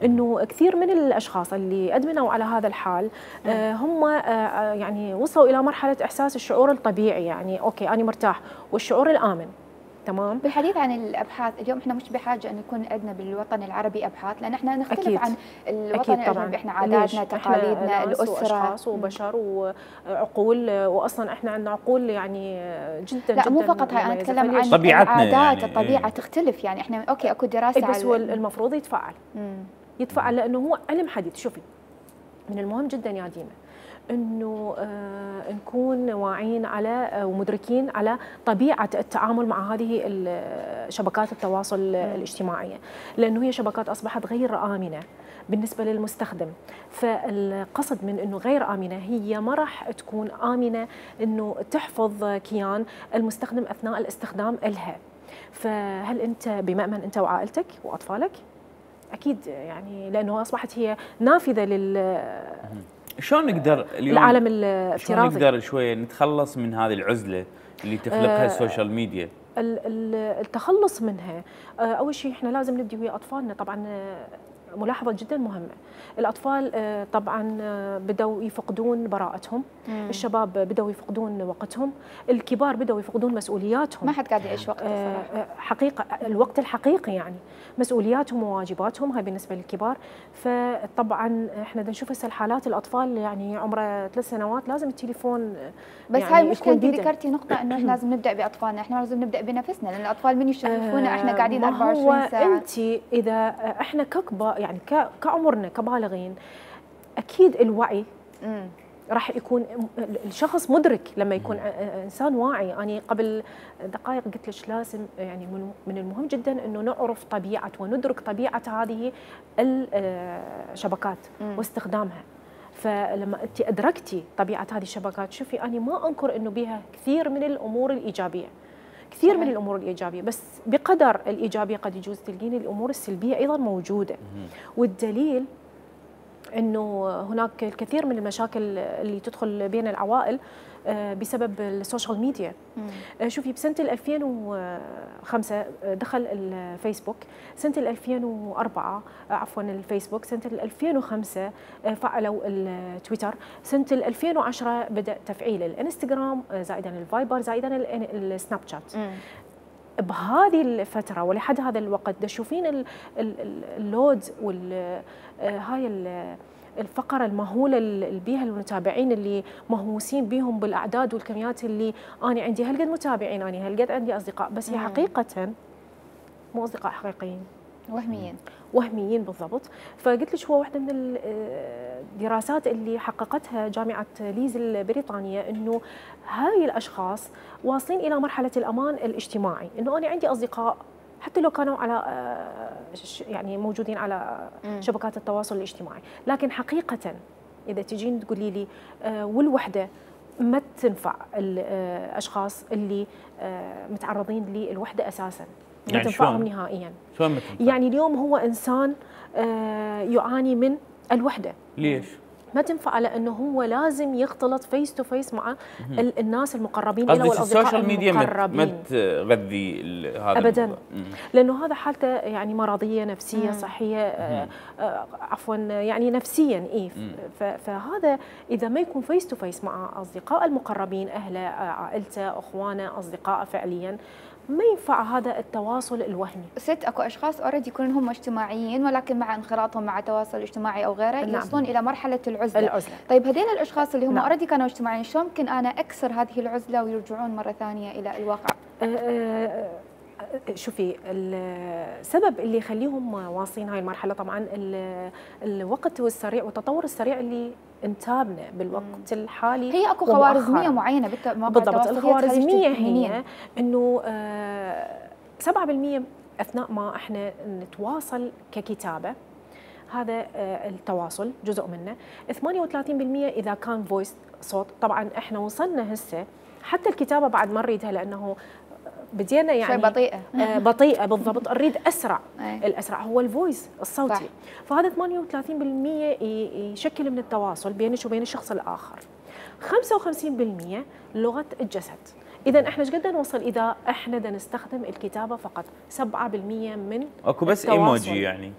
انه كثير من الاشخاص اللي ادمنوا على هذا الحال هم يعني وصلوا الى مرحله احساس الشعور الطبيعي، يعني اوكي انا مرتاح، والشعور الامن. تمام. بالحديث عن الابحاث اليوم احنا مش بحاجه ان يكون عندنا بالوطن العربي ابحاث، لان احنا نختلف أكيد. عن الوطن الاجنبي. احنا عاداتنا، تقاليدنا، الاسره، واشخاص وبشر وعقول، واصلا احنا عندنا عقول يعني جدا لا جدا مو فقط هاي، انا اتكلم عن طبيعتنا العادات يعني الطبيعه تختلف. يعني احنا اوكي اكو دراسه بس هو المفروض يتفعل لانه هو علم حديث. شوفي، من المهم جدا يا ديما انه نكون واعيين على ومدركين على طبيعه التعامل مع هذه شبكات التواصل الاجتماعيه، لانه هي شبكات اصبحت غير امنه بالنسبه للمستخدم. فالقصد من انه غير امنه هي ما راح تكون امنه انه تحفظ كيان المستخدم اثناء الاستخدام لها. فهل انت بمأمن انت وعائلتك واطفالك؟ اكيد، يعني لانه اصبحت هي نافذه شلون نقدر اليوم العالم الافتراضي، شلون نقدر شويه نتخلص من هذه العزله اللي تخلقها السوشيال ميديا؟ التخلص منها اول شيء احنا لازم نبدي ويا اطفالنا. طبعا ملاحظه جدا مهمه، الاطفال طبعا بدأوا يفقدون براءتهم، الشباب بدأوا يفقدون وقتهم، الكبار بدأوا يفقدون مسؤولياتهم. ما حد قاعد يعيش وقت حقيقه الوقت الحقيقي، يعني مسؤولياتهم وواجباتهم هاي بالنسبه للكبار. فطبعا احنا نشوف هسه الحالات الاطفال يعني عمره 3 سنوات لازم التليفون. بس يعني هاي مشكلة. انت ذكرتي نقطة انه احنا لازم نبدأ باطفالنا، احنا لازم نبدأ بنفسنا، لان الاطفال من يشوفونا احنا قاعدين 24 ساعة. انت اذا احنا ككبار يعني كعمرنا كبالغين، اكيد الوعي راح يكون الشخص مدرك لما يكون انسان واعي. انا قبل دقائق قلت لك لازم يعني من المهم جدا انه نعرف طبيعه وندرك طبيعه هذه الشبكات واستخدامها. فلما انت ادركتي طبيعه هذه الشبكات، شوفي انا ما انكر انه بها كثير من الامور الايجابيه، كثير من الامور الايجابيه، بس بقدر الايجابيه قد يجوز تلقين الامور السلبيه ايضا موجوده. والدليل انه هناك الكثير من المشاكل اللي تدخل بين العوائل بسبب السوشيال ميديا. شوفي بسنه 2005 دخل الفيسبوك، سنه 2004 عفوا الفيسبوك، سنه 2005 فعلوا التويتر، سنه 2010 بدا تفعيل الانستغرام، زائدا الفايبر، زائدا السناب شات. بهذه الفترة ولحد هذا الوقت تشوفين اللود هاي الفقرة المهولة اللي بيها المتابعين اللي مهووسين بيهم بالأعداد والكميات، اللي أنا عندي هالقد متابعين، أنا هالقد عندي أصدقاء، بس هي حقيقة مو أصدقاء حقيقيين، وهميين بالضبط. فقلت لك هو واحدة من الدراسات اللي حققتها جامعة ليز البريطانية، إنه هاي الأشخاص واصلين إلى مرحلة الأمان الاجتماعي، إنه أنا عندي أصدقاء حتى لو كانوا على يعني موجودين على شبكات التواصل الاجتماعي، لكن حقيقة إذا تجين تقولي لي والوحدة ما تنفع الأشخاص اللي متعرضين للوحدة أساساً، ما يعني تنفعهم نهائياً. شلون ما تنفع؟ يعني اليوم هو إنسان يعاني من الوحدة. ليش؟ ما تنفع، لأنه هو لازم يختلط فيس تو فيس مع الناس المقربين له والأصدقاء المقربين. ما تغذي هذا أبداً، لأنه هذا حالته يعني مرضية نفسية صحية عفواً يعني نفسياً فهذا إذا ما يكون فيس تو فيس مع أصدقاء المقربين، أهله، عائلته، أخوانه، أصدقائه فعلياً، ما ينفع هذا التواصل الوهمي. اكو اشخاص اوريدي يكونون هم اجتماعيين، ولكن مع انخراطهم مع التواصل الاجتماعي او غيره يوصلون الى مرحله العزله. طيب هذول الاشخاص اللي هم اوريدي كانوا اجتماعيين، شلون ممكن انا اكسر هذه العزله ويرجعون مره ثانيه الى الواقع؟ شوفي السبب اللي يخليهم واصلين هاي المرحله طبعا الوقت السريع والتطور السريع اللي انتابنا بالوقت الحالي. هي اكو خوارزميه معينه بالضبط. الخوارزميه هي انه 7% اثناء ما احنا نتواصل ككتابه، هذا التواصل جزء منه. 38% اذا كان فويس صوت. طبعا احنا وصلنا هسه حتى الكتابه بعد ما نريدها، لانه بدينا يعني بطيئة بطيئة بالضبط، نريد أسرع. الأسرع هو الفويس الصوتي. صح. فهذا 38% يشكل من التواصل بينك وبين الشخص الآخر. 55% لغة الجسد. إذا إحنا ايش قد نوصل إذا إحنا بدنا نستخدم الكتابة فقط؟ 7% من أكو بس إيموجي يعني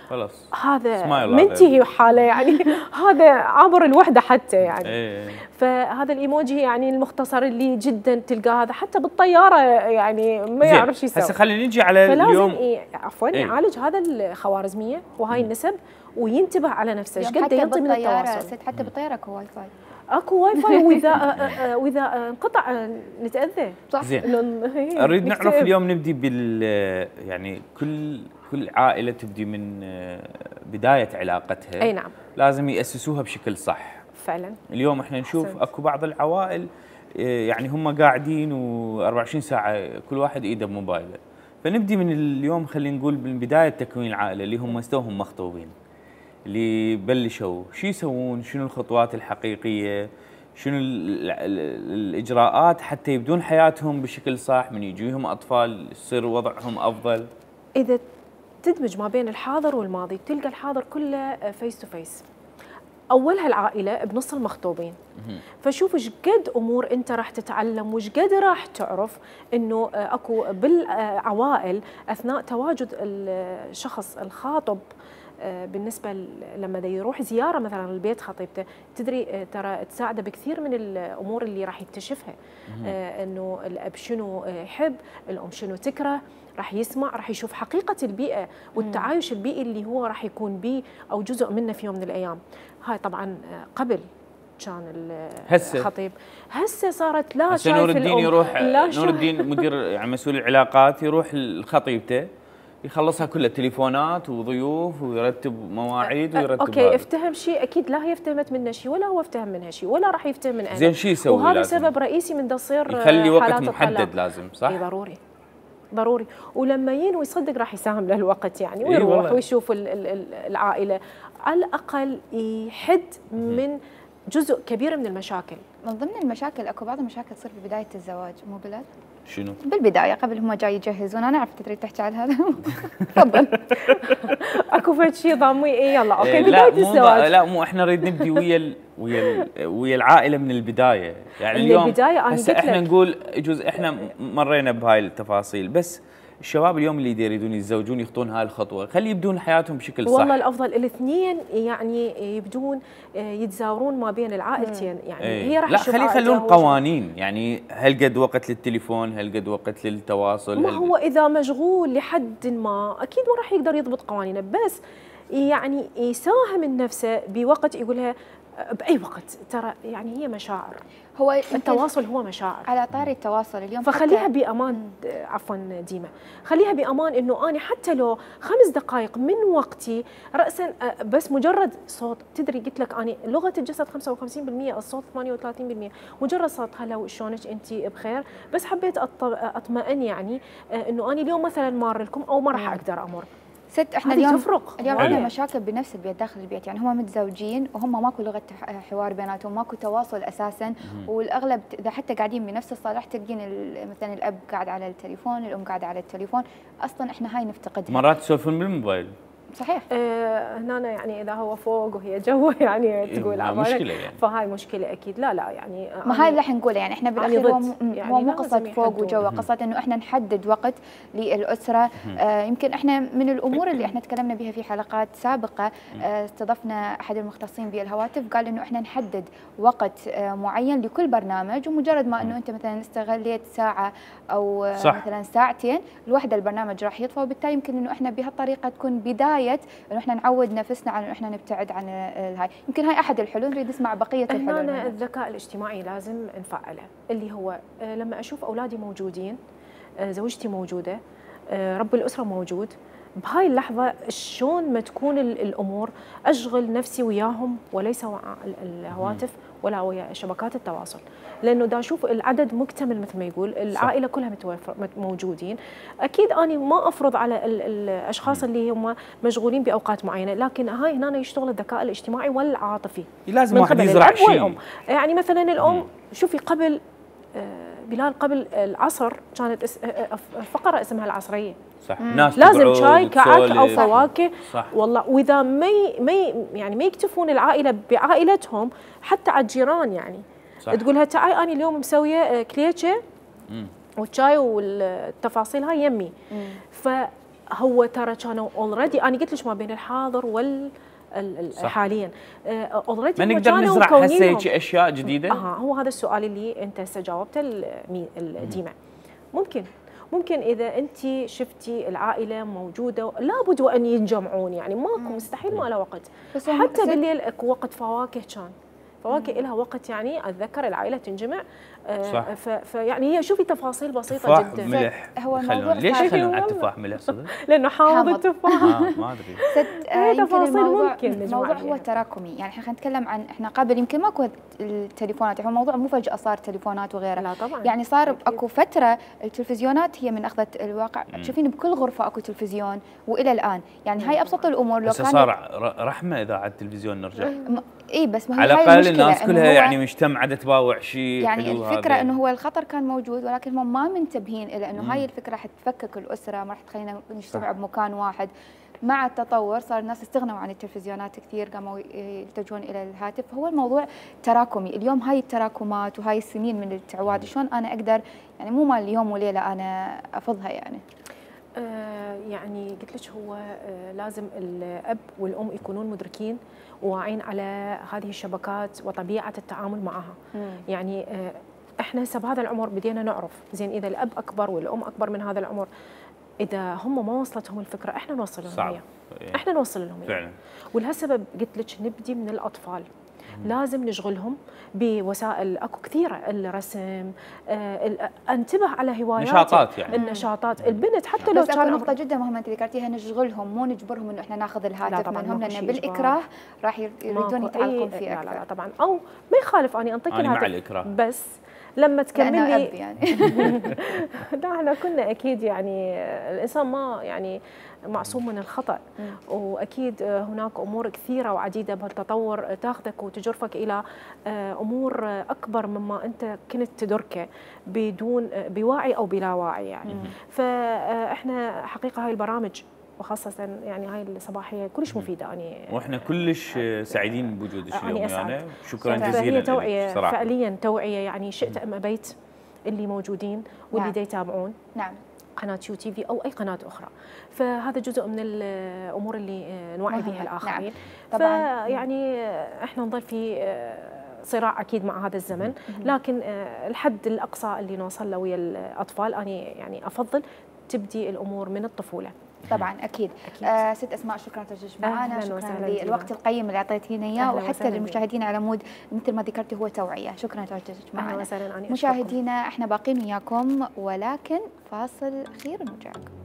خلاص هذا منتهي حاله يعني هذا عبر الوحده حتى يعني. فهذا الايموجي يعني المختصر اللي جدا تلقاه هذا حتى بالطياره يعني ما يعرف شو يسوي. هسه خلينا نجي على اليوم عفوا يعالج هذا الخوارزميه وهاي النسب وينتبه على نفسه ايش قد ينطي من التواصل. حتى بالطياره اكو واي فاي، اكو واي فاي، واذا انقطع نتاذى. صح. زين نريد نعرف اليوم نبدي بال يعني كل عائله تبدي من بدايه علاقتها. اي نعم. لازم ياسسوها بشكل صح. فعلا. اليوم احنا نشوف اكو بعض العوائل يعني هم قاعدين و24 ساعه كل واحد ايده بموبايله. فنبدي من اليوم، خلينا نقول من بدايه تكوين العائله اللي هم توهم مخطوبين، اللي بلشوا شو يسوون، شنو الخطوات الحقيقيه، شنو الاجراءات حتى يبدون حياتهم بشكل صح، من يجيهم اطفال يصير وضعهم افضل. اذا تدمج ما بين الحاضر والماضي تلقى الحاضر كله فيس تو فيس. اولها العائله بنص المخطوبين. فشوف ايش قد امور انت راح تتعلم وايش قد راح تعرف انه اكو بالعوائل اثناء تواجد الشخص الخاطب. بالنسبه لما يروح زياره مثلا لبيت خطيبته، تدري ترى تساعده بكثير من الامور اللي راح يكتشفها. انه الاب شنو يحب، الام شنو تكره، راح يسمع، راح يشوف حقيقه البيئه والتعايش البيئي اللي هو راح يكون به او جزء منه في يوم من الايام. هاي طبعا قبل كان الخطيب، هسه صارت لا شايف نور الدين يروح نور الدين مدير يعني مسؤول العلاقات يروح لخطيبته يخلصها كلها تليفونات وضيوف ويرتب مواعيد ويرتب اوكي هذا. افتهم شيء اكيد لا هي افتهمت منه شيء ولا هو افتهم منها شيء ولا راح يفتهم من اهله. زين شو يسوي؟ وهذا لازم سبب رئيسي من تصير يخلي وقت حالات محدد الطلاق. لازم صح؟ اي ضروري ولما ينوي يصدق راح يساهم له الوقت يعني إيه ويروح والله. ويشوف العائله على الاقل يحد من جزء كبير من المشاكل. من ضمن المشاكل اكو بعض المشاكل تصير في بدايه الزواج مو بلاد؟ شنو؟ بالبدايه قبل هم جاي يجهزون، انا عرفت تريد تحكي على هذا. تفضل. اكو فد شيء ضامي يلا اوكي إيه بدايه لا الزواج. لا مو احنا نريد نبدي ويا العائله من البدايه، يعني اليوم البدايه انا هسه قلت احنا لك نقول يجوز احنا مرينا بهاي التفاصيل، بس الشباب اليوم اللي يريدون يتزوجون يخطون هاي الخطوه، خلي يبدون حياتهم بشكل صح. والله الافضل الاثنين يعني يبدون يتزاورون ما بين العائلتين يعني ايه. هي راح لا تشوف خلي يخلون عائلته قوانين، يعني هل قد وقت للتليفون، هل قد وقت للتواصل، ما هو اذا مشغول لحد ما اكيد ما راح يقدر يضبط قوانينه، بس يعني يساهم من نفسه بوقت يقولها باي وقت، ترى يعني هي مشاعر، هو التواصل هو مشاعر. على طاري التواصل اليوم فخليها بامان عفوا ديما، خليها بامان انه انا حتى لو 5 دقائق من وقتي راسا بس مجرد صوت، تدري قلت لك انا لغه الجسد 55%، الصوت 38%، مجرد صوت هلا شلونك انت بخير، بس حبيت اطمئن يعني انه انا اليوم مثلا مار لكم او ما راح اقدر امر. ست احنا هذه اليوم عندنا وايد. مشاكل بنفس البيت داخل البيت، يعني هم متزوجين وهم ماكو لغه حوار بيناتهم، ماكو تواصل اساسا، والاغلب اذا حتى قاعدين بنفس الصاله تلقين مثلا الاب قاعد على التليفون، الام قاعده على التليفون، اصلا احنا هاي نفتقدها. مرات يسولفون بالموبايل. صحيح. هنا يعني اذا هو فوق وهي جوا يعني تقول مشكله يعني. فهاي مشكله اكيد. لا يعني ما هاي اللي راح نقوله، يعني احنا بالاخير هو مو قصه فوق وجوا، قصه انه احنا نحدد وقت للاسره. يمكن احنا من الامور اللي احنا تكلمنا بها في حلقات سابقه، استضفنا احد المختصين بالهواتف قال انه احنا نحدد وقت معين لكل برنامج، ومجرد ما انه انت مثلا استغليت ساعه او مثلا ساعتين لوحده البرنامج راح يطفى، وبالتالي يمكن انه احنا بهالطريقه تكون بدايه انه احنا نعود نفسنا على انه احنا نبتعد عن هاي. يمكن هاي احد الحلول، نريد نسمع بقيه الحلول. هنا الذكاء الاجتماعي لازم نفعله، اللي هو لما اشوف اولادي موجودين، زوجتي موجوده، رب الاسره موجود، بهاي اللحظه شلون ما تكون الامور اشغل نفسي وياهم وليس ويا الهواتف ولا ويا شبكات التواصل، لانه دا اشوف العدد مكتمل مثل ما يقول، العائله كلها موجودين، اكيد اني ما افرض على الاشخاص اللي هم مشغولين باوقات معينه، لكن هاي هنا يشتغل الذكاء الاجتماعي والعاطفي. لازم واحد يزرع شيء. يعني مثلا الام شوفي قبل بلال قبل العصر كانت فقره اسمها العصريه، صح. ناس لازم شاي كعك او فواكه. صح. والله واذا ما يكتفون العائله بعائلتهم، حتى على الجيران يعني صح. تقولها تعاي انا اليوم مسويه كليتشه والشاي والتفاصيل هاي يمي. فهو ترى كانوا اوريدي، انا قلت لك ما بين الحاضر وال حاليا اوريدي ما نقدر نزرع هسه اشياء جديده. هو هذا السؤال اللي انت هسه جاوبته ديما. ممكن اذا انت شفتي العائله موجوده لابد وان يتجمعون، يعني ماكو مستحيل ما له وقت، حتى بالليل اكو وقت فواكه، كان فواكه لها وقت، يعني اتذكر العائله تنجمع. فيعني هي شوفي تفاصيل بسيطه جدا. ملح. هو الموضوع ليش يخلون على التفاح ملح صدق؟ لانه حامض التفاح. ما ادري. تفاصيل ممكن الموضوع هو تراكمي، يعني احنا نتكلم عن احنا قبل يمكن ماكو التليفونات، هو الموضوع مو فجاه صار تليفونات وغيره. لا طبعا. يعني صار اكو فتره التلفزيونات هي من اخذت الواقع، تشوفين بكل غرفه اكو تلفزيون والى الان، يعني هاي ابسط الامور. لو بس صار رحمه اذا على التلفزيون نرجع. اي بس ما هي على الاقل الناس كلها يعني مجتمعه تتباوع شيء. يعني الفكره انه هو الخطر كان موجود، ولكن هم ما منتبهين الى انه هاي الفكره راح تفكك الاسره، ما راح تخلينا نجتمع بمكان واحد. مع التطور صار الناس استغنوا عن التلفزيونات كثير، قاموا يلتجون الى الهاتف. هو الموضوع تراكمي اليوم، هاي التراكمات وهاي السنين من التعواد شلون انا اقدر، يعني مو مال اليوم وليله انا افضها يعني. يعني قلت لك هو لازم الاب والام يكونون مدركين وواعين على هذه الشبكات وطبيعه التعامل معها. يعني احنا هسه بهذا العمر بدينا نعرف زين، اذا الاب اكبر والام اكبر من هذا العمر، اذا هم ما وصلتهم الفكره احنا نوصل لهم اياها. احنا نوصل لهم فعلا. ولهالسبب قلت لك نبدي من الاطفال. لازم نشغلهم بوسائل اكو كثيره، الرسم، انتبه على هوايات نشاطات يعني النشاطات البنت حتى لو بس اكو كان نقطه جدا مهمه انت ذكرتيها، نشغلهم مو نجبرهم انه احنا ناخذ الهاتف منهم، لان شيء بالاكراه راح يريدون يتعلقون فيه اكثر. لا طبعا، او ما يخالف اني انطيك أنا مع الهاتف الإكراه. بس لما تكمل لي يعني لا احنا كنا اكيد يعني الانسان ما يعني معصوم من الخطا، واكيد هناك امور كثيره وعديده بهالتطور تاخذك وتجرفك الى امور اكبر مما انت كنت تدركه بدون بوعي او بلا وعي يعني. فاحنا حقيقه هاي البرامج وخاصة يعني هاي الصباحية كلش مفيدة يعني، واحنا كلش سعيدين بوجودك اليوم يعني. شكرا فهي جزيلا توعية لك صراحة. فعليا توعية يعني شئت ام ابيت اللي موجودين واللي دا يتابعون نعم قناة يو تي في او اي قناة اخرى، فهذا جزء من الامور اللي نوعي بها الاخرين. نعم. طبعا فيعني احنا نظل في صراع اكيد مع هذا الزمن، لكن الحد الاقصى اللي نوصل له ويا الاطفال انا يعني افضل تبدي الامور من الطفولة. طبعا اكيد. ست اسماء شكرا تواجدك معنا، شكرا للوقت القيم اللي اعطيتينا اياه، وحتى للمشاهدين على مود مثل ما ذكرتي هو توعيه. شكرا تواجدك معنا. مشاهدينا احنا باقين وياكم، ولكن فاصل اخير ونرجع لكم.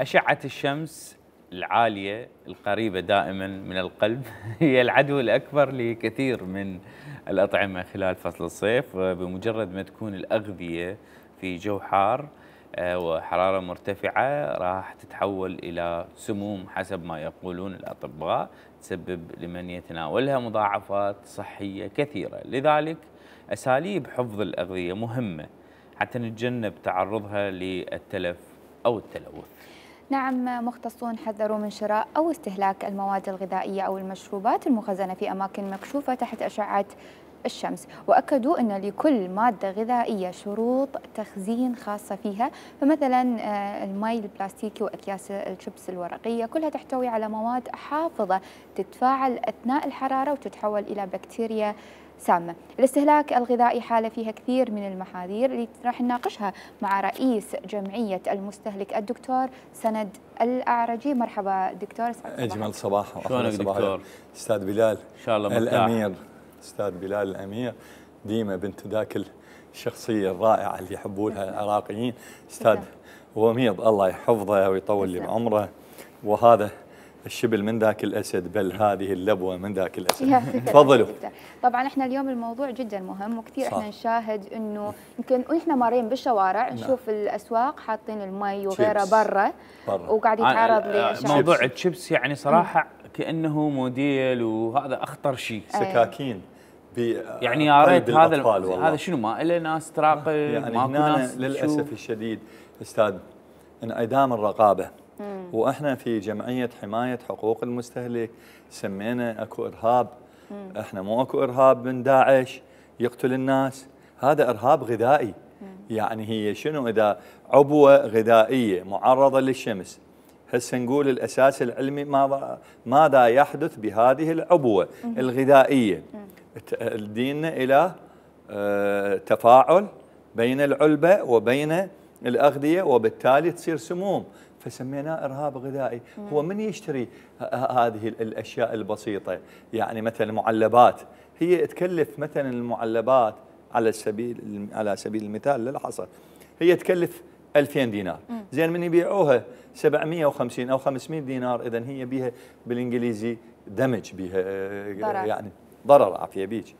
أشعة الشمس العالية القريبة دائما من القلب هي العدو الأكبر لكثير من الأطعمة خلال فصل الصيف، وبمجرد ما تكون الأغذية في جو حار وحرارة مرتفعة راح تتحول إلى سموم حسب ما يقولون الأطباء، تسبب لمن يتناولها مضاعفات صحية كثيرة. لذلك أساليب حفظ الأغذية مهمة حتى نتجنب تعرضها للتلف أو التلوث. نعم، مختصون حذروا من شراء أو استهلاك المواد الغذائية أو المشروبات المخزنة في أماكن مكشوفة تحت أشعة الشمس، وأكدوا أن لكل مادة غذائية شروط تخزين خاصة فيها، فمثلا المي البلاستيكي وأكياس الشيبس الورقية كلها تحتوي على مواد حافظة تتفاعل أثناء الحرارة وتتحول إلى بكتيريا سامة. الاستهلاك الغذائي حالة فيها كثير من المحاذير اللي راح نناقشها مع رئيس جمعية المستهلك الدكتور سند الأعرجي. مرحبا دكتور. أجمل صباح. شلونك دكتور؟ أستاذ بلال إن شاء الله مرتاح. الأمير أستاذ بلال الأمير، ديما بنت ذاك الشخصية الرائعة اللي يحبونها العراقيين. أستاذ وميض الله يحفظه ويطول لي بعمره، وهذا الشبل من ذاك الأسد، بل هذه اللبوة من ذاك الأسد. تفضلوا. طبعا احنا اليوم الموضوع جدا مهم وكثير احنا نشاهد انه يمكن واحنا مارين بالشوارع نشوف الاسواق حاطين المي وغيره برا وقاعد يتعرض للشمس. موضوع الشيبس يعني صراحة كأنه موديل، وهذا أخطر شيء. سكاكين يعني يا ريت هذا شنو ما له ناس تراقب يعني هنا للأسف الشديد أستاذ انعدام الرقابة. واحنا في جمعيه حمايه حقوق المستهلك سمينا اكو ارهاب. احنا مو اكو ارهاب من داعش يقتل الناس، هذا ارهاب غذائي. يعني هي شنو اذا عبوه غذائيه معرضه للشمس، هسه نقول الاساس العلمي ماذا يحدث بهذه العبوه الغذائيه؟ تدينا الى تفاعل بين العلبه وبين الاغذيه، وبالتالي تصير سموم، فسميناه إرهاب غذائي. هو من يشتري هذه الأشياء البسيطة؟ يعني مثلا المعلبات، هي تكلف مثلا المعلبات على سبيل المثال للحصر هي تكلف 2000 دينار، زين من يبيعوها 750 أو 500 دينار، إذن هي بيها بالإنجليزي دمج، بيها يعني ضرر، عافية بيك.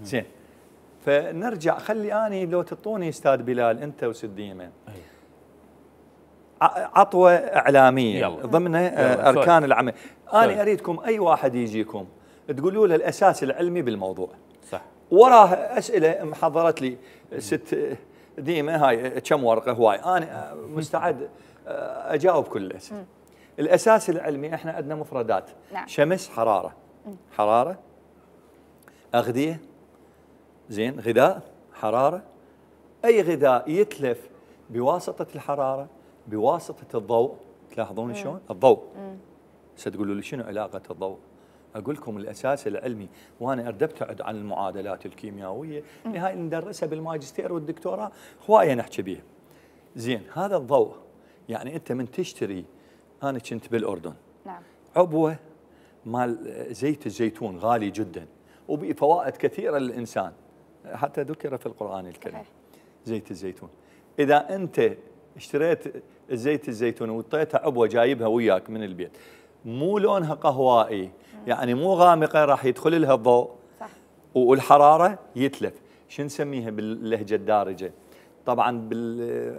زين، فنرجع، خلي أني لو تعطوني أستاذ بلال أنت وسديمة عطوة إعلامية ضمن أركان العمل. أنا أريدكم أي واحد يجيكم تقولوا له الأساس العلمي بالموضوع. صح. وراه أسئلة محضرت لي ست ديمة، هاي كم ورقة هواي، أنا مستعد أجاوب كل الأسئلة. الأساس العلمي إحنا عندنا مفردات. نعم. شمس، حرارة، حرارة، أغذية، زين، غذاء، حرارة. أي غذاء يتلف بواسطة الحرارة، بواسطة الضوء. تلاحظون شلون؟ الضوء. ستقولوا لي شنو علاقة الضوء؟ اقول لكم الاساس العلمي، وانا اريد ابتعد عن المعادلات الكيميائيه اللي هاي ندرسها بالماجستير والدكتوراه هوايه نحكي بيها. زين هذا الضوء يعني انت من تشتري، انا كنت بالاردن نعم عبوه مال زيت الزيتون غالي جدا وبفوائد كثيره للانسان، حتى ذكر في القران الكريم زيت الزيتون. اذا انت اشتريت الزيت الزيتون وطيتها عبوه جايبها وياك من البيت مو لونها قهوائي يعني مو غامقه راح يدخل لها الضوء صح. والحراره يتلف. شو نسميها باللهجه الدارجه؟ طبعا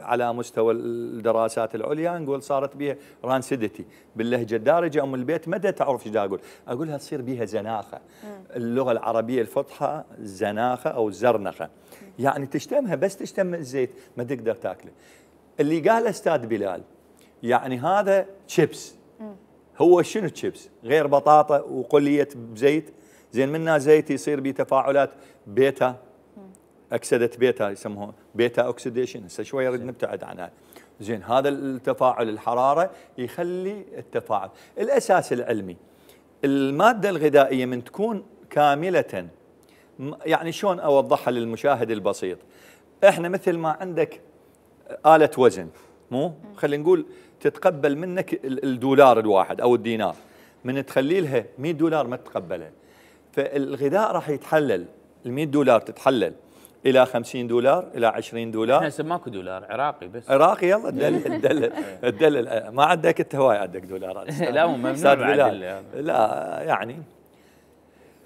على مستوى الدراسات العليا نقول صارت بها رانسيديتي، باللهجه الدارجه ام البيت ما تعرف ايش اقول، اقولها تصير بها زناخه. اللغه العربيه الفصحى زناخه او زرنخه، يعني تشتمها بس تشتم الزيت ما تقدر تاكله. اللي قال استاذ بلال يعني هذا تشيبس، هو شنو تشيبس؟ غير بطاطا وقليه بزيت، زين منها زيت يصير به تفاعلات بيتا اكسده بيتا يسموها بيتا اوكسيديشن، هسه شويه نريد نبتعد عنها. زين هذا التفاعل الحراره يخلي التفاعل. الاساس العلمي الماده الغذائيه من تكون كامله، يعني شلون اوضحها للمشاهد البسيط؟ احنا مثل ما عندك آلة وزن، مو خلينا نقول تتقبل منك الدولار الواحد او الدينار، من تخلي لها 100 دولار ما تتقبلها. فالغذاء راح يتحلل، ال 100 دولار تتحلل الى 50 دولار الى 20 دولار. احنا هسه ماكو دولار عراقي بس. عراقي يلا تدلل ما عندك انت هواي عندك دولارات. لا مو ممنوع بعد. لا يعني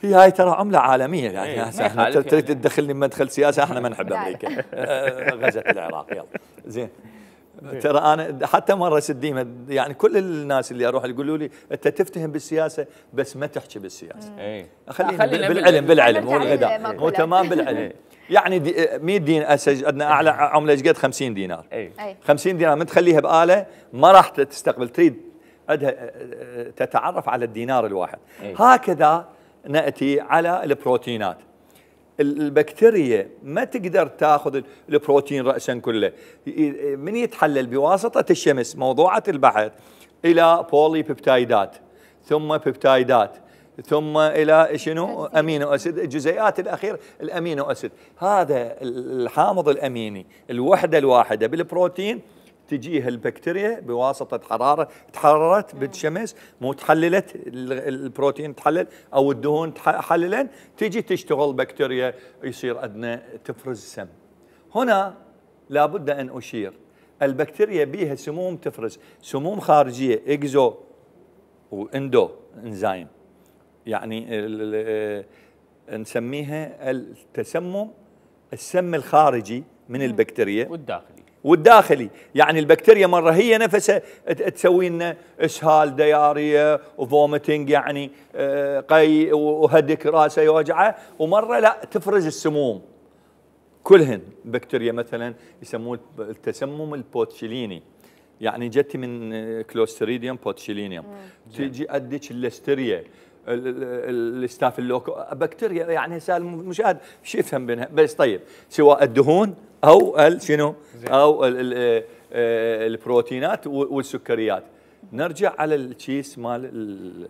هي هاي ترى عمله عالميه يعني احنا تريد تدخلني بمدخل سياسه، احنا ما نحب امريكا. غزت العراق يلا زين. ترى انا حتى مره سديمه يعني كل الناس اللي اروح يقولوا لي انت تفتهم بالسياسه بس ما تحكي بالسياسه. خلينا بالعلم والغذاء مو تمام بالعلم. يعني 100 دينار عندنا اعلى عمله ايش قد 50 دينار. 50 دينار من تخليها باله ما راح تستقبل، تريد عندها تتعرف على الدينار الواحد. هكذا ناتي على البروتينات. البكتيريا ما تقدر تاخذ البروتين راسا كله، من يتحلل بواسطه الشمس موضوعه البحث الى بولي بيبتايدات ثم بيبتايدات ثم الى شنو امينو اسيد، الجزيئات الاخيره الامينو اسيد. هذا الحامض الاميني الوحده الواحده بالبروتين تجيها البكتيريا بواسطه حراره، تحررت بالشمس مو تحللت البروتين تحلل او الدهون تحللا، تجي تشتغل بكتيريا يصير عندنا تفرز سم. هنا لابد ان اشير البكتيريا بيها سموم تفرز، سموم خارجيه اكزو واندو انزيم، يعني نسميها التسمم السم الخارجي من البكتيريا والداخلي. يعني البكتيريا مره هي نفسها تسوي لنا اسهال دياريه وفوميتنج يعني قي وهدك راسه يوجعه، ومره لا تفرز السموم كلهن. بكتيريا مثلا يسموه التسمم البوتشيليني، يعني جتي من كلوستريديوم بوتشيلينيوم، تجي اديك الليستيريا الستافيلوكوكس بكتيريا. يعني هسه المشاهد شو يفهم بينها؟ بس طيب سواء الدهون او شنو او البروتينات والسكريات. نرجع على الكيس مال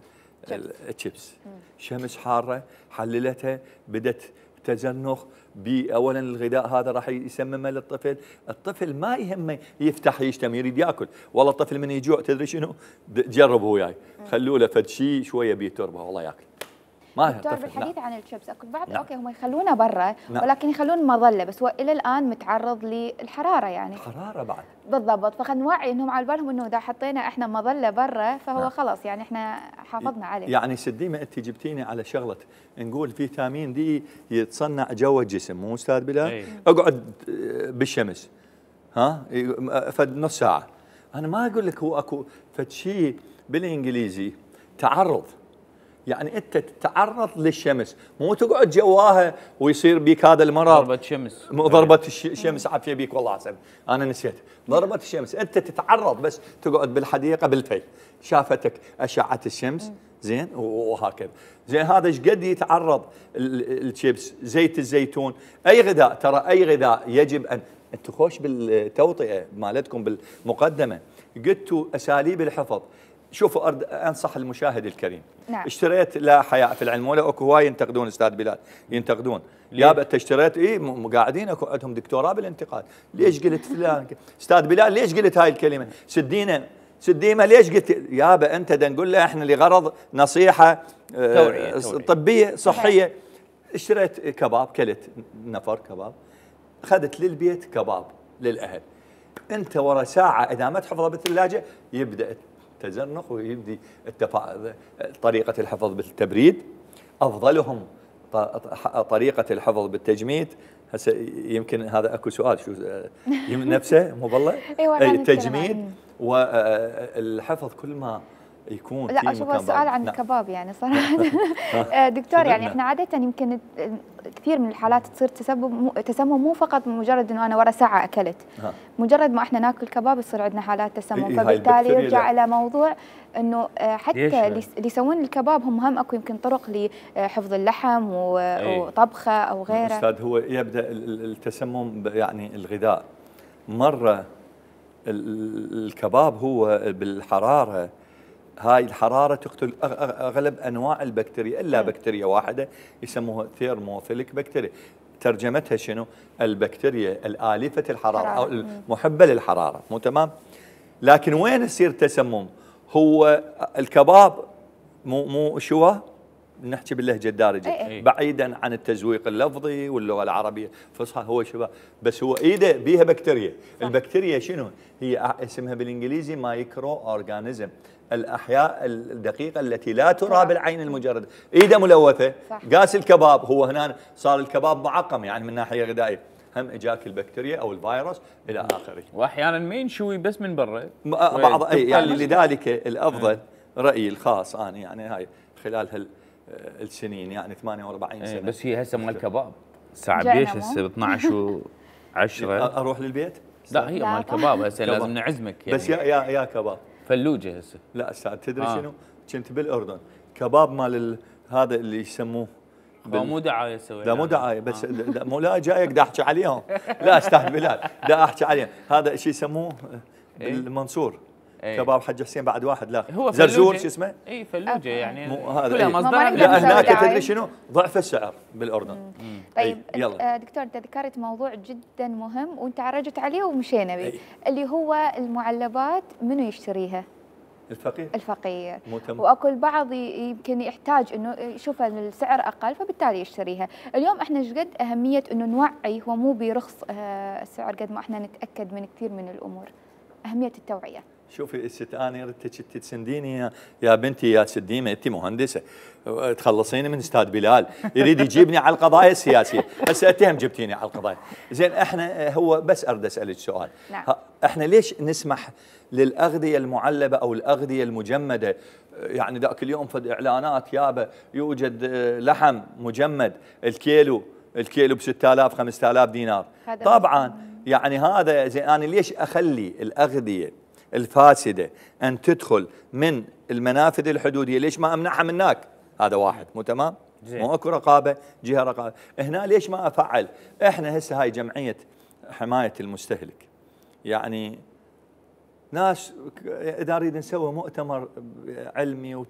الشيبس. شمس حاره حللتها، بدت تزنخ اولا الغذاء هذا راح يسممه للطفل، الطفل ما يهمه يفتح يشتم يريد ياكل، والله الطفل من يجوع تدري شنو؟ جربوا وياي خلوا له فد شيء شويه بيه تربه والله ياكل. ما دكتور بالحديث عن الشيبس اكو بعض اوكي هم يخلونه برا ولكن يخلون مظله، بس هو الى الان متعرض للحراره يعني حراره بعد بالضبط. فخلينا نوعي انهم على بالهم انه اذا حطينا احنا مظله برا فهو خلاص يعني احنا حافظنا عليه. يعني سديمه انت جبتيني على شغله، نقول فيتامين دي يتصنع جوا الجسم مو استاذ بلال؟ اقعد بالشمس فد نص ساعه. انا ما اقول لك هو اكو فد شيء بالانجليزي تعرض، يعني انت تتعرض للشمس مو تقعد جواها ويصير بيك هذا المرض. ضربة شمس، ضربة الشمس عافية بيك والله حسن انا نسيت. ضربة الشمس انت تتعرض بس تقعد بالحديقة بالفي شافتك اشعة الشمس زين وهكذا. زين هذا ايش قد يتعرض الشيبس، زيت الزيتون، اي غذاء. ترى اي غذاء يجب ان انتم خوش بالتوطئة مالتكم بالمقدمة قلتوا اساليب الحفظ. شوفوا انصح المشاهد الكريم. نعم. اشتريت لا حياء في العلم، ولا اكو هواي ينتقدون استاذ بلال، ينتقدون يابا انت اشتريت قاعدين اكو عندهم دكتوراه بالانتقاد، ليش قلت فلان؟ استاذ بلال ليش قلت هاي الكلمه؟ سديمه ليش قلت؟ يابا انت دا نقول له احنا لغرض نصيحه توعية. طبيه صحيه. اشتريت كباب، كلت نفر كباب، اخذت للبيت كباب للاهل. انت ورا ساعه اذا ما تحفظه بالثلاجه يبدا التزنق ويبدي طريقه الحفظ بالتبريد، افضلهم طريقه الحفظ بالتجميد. هسه يمكن هذا اكو سؤال شو نفسه مو بالله؟ التجميد والحفظ كل ما يكون لا شوف السؤال عن الكباب يعني صراحه دكتور يعني احنا عاده يمكن كثير من الحالات تصير تسمم مو فقط مجرد انه انا ورا ساعه اكلت، مجرد ما احنا ناكل كباب يصير عندنا حالات تسمم، فبالتالي يرجع الى موضوع انه حتى اللي يسوون الكباب هم اكو يمكن طرق لحفظ اللحم وطبخه او غيره. استاذ هو يبدا التسمم يعني الغذاء مره الكباب هو بالحراره، هاي الحرارة تقتل أغلب أنواع البكتيريا إلا بكتيريا واحدة يسموها ثيرموفيليك بكتيريا. ترجمتها شنو؟ البكتيريا الآلفة الحرارة أو المحبة للحرارة، مو تمام؟ لكن وين يصير تسمم؟ هو الكباب مو شوى، نحكي باللهجة الدارجة بعيدا عن التزويق اللفظي واللغة العربية فصحى، هو شبه بس هو ايده بيها بكتيريا. البكتيريا شنو؟ هي اسمها بالانجليزي مايكرو اورجانيزم، الاحياء الدقيقه التي لا ترى بالعين المجرده. ايده ملوثه، قاس الكباب هو هنا صار الكباب معقم يعني من ناحيه غذائيه، هم اجاك البكتيريا او الفيروس الى اخره. واحيانا ما ينشوي بس من برا بعض يعني لذلك الافضل رايي الخاص انا يعني هاي خلال السنين يعني 48 سنه. بس هي هسه مال كباب الساعه بيش هسه 12:10 اروح للبيت؟ لا هي مال كباب هسه لازم نعزمك يعني. بس يا كباب فلوجه هسه. لا استاذ تدري شنو؟ كنت بالاردن كباب مال هذا اللي يسموه مو دعايه سوي. لا مو دعايه بس مو لا جايك دا احكي عليهم. لا استاذ بلال دا احكي عليهم. هذا شيء يسموه بالمنصور كباب حج حسين بعد واحد لا هو زرزور شو اسمه؟ اي فلوجه يعني كلها مصدر. لا هناك تدري شنو؟ ضعف السعر بالاردن. طيب دكتور انت ذكرت موضوع جدا مهم وانت عرجت عليه ومشينا به اللي هو المعلبات منو يشتريها؟ الفقير. واكو البعض يمكن يحتاج انه يشوف السعر اقل فبالتالي يشتريها. اليوم احنا ايش قد اهميه انه نوعي هو مو برخص السعر قد ما احنا نتاكد من كثير من الامور. اهميه التوعيه. شوفي الست انا ردتك تسنديني يا بنتي يا سديمه انت مهندسه تخلصيني من استاذ بلال يريد يجيبني على القضايا السياسيه، هسه انت هم جبتيني على القضايا. زين احنا هو بس اريد اسالك سؤال. نعم. احنا ليش نسمح للاغذيه المعلبه او الاغذيه المجمده؟ يعني ذاك اليوم فد اعلانات يابا يوجد لحم مجمد الكيلو ب 6000 5000 دينار. طبعا يعني هذا زين انا ليش اخلي الاغذيه الفاسده ان تدخل من المنافذ الحدوديه؟ ليش ما امنعها من هناك؟ هذا واحد مو تمام؟ مو اكو رقابه، جهه رقابه. هنا ليش ما افعل؟ احنا هسه هاي جمعيه حمايه المستهلك يعني ناس اذا نريد نسوي مؤتمر علمي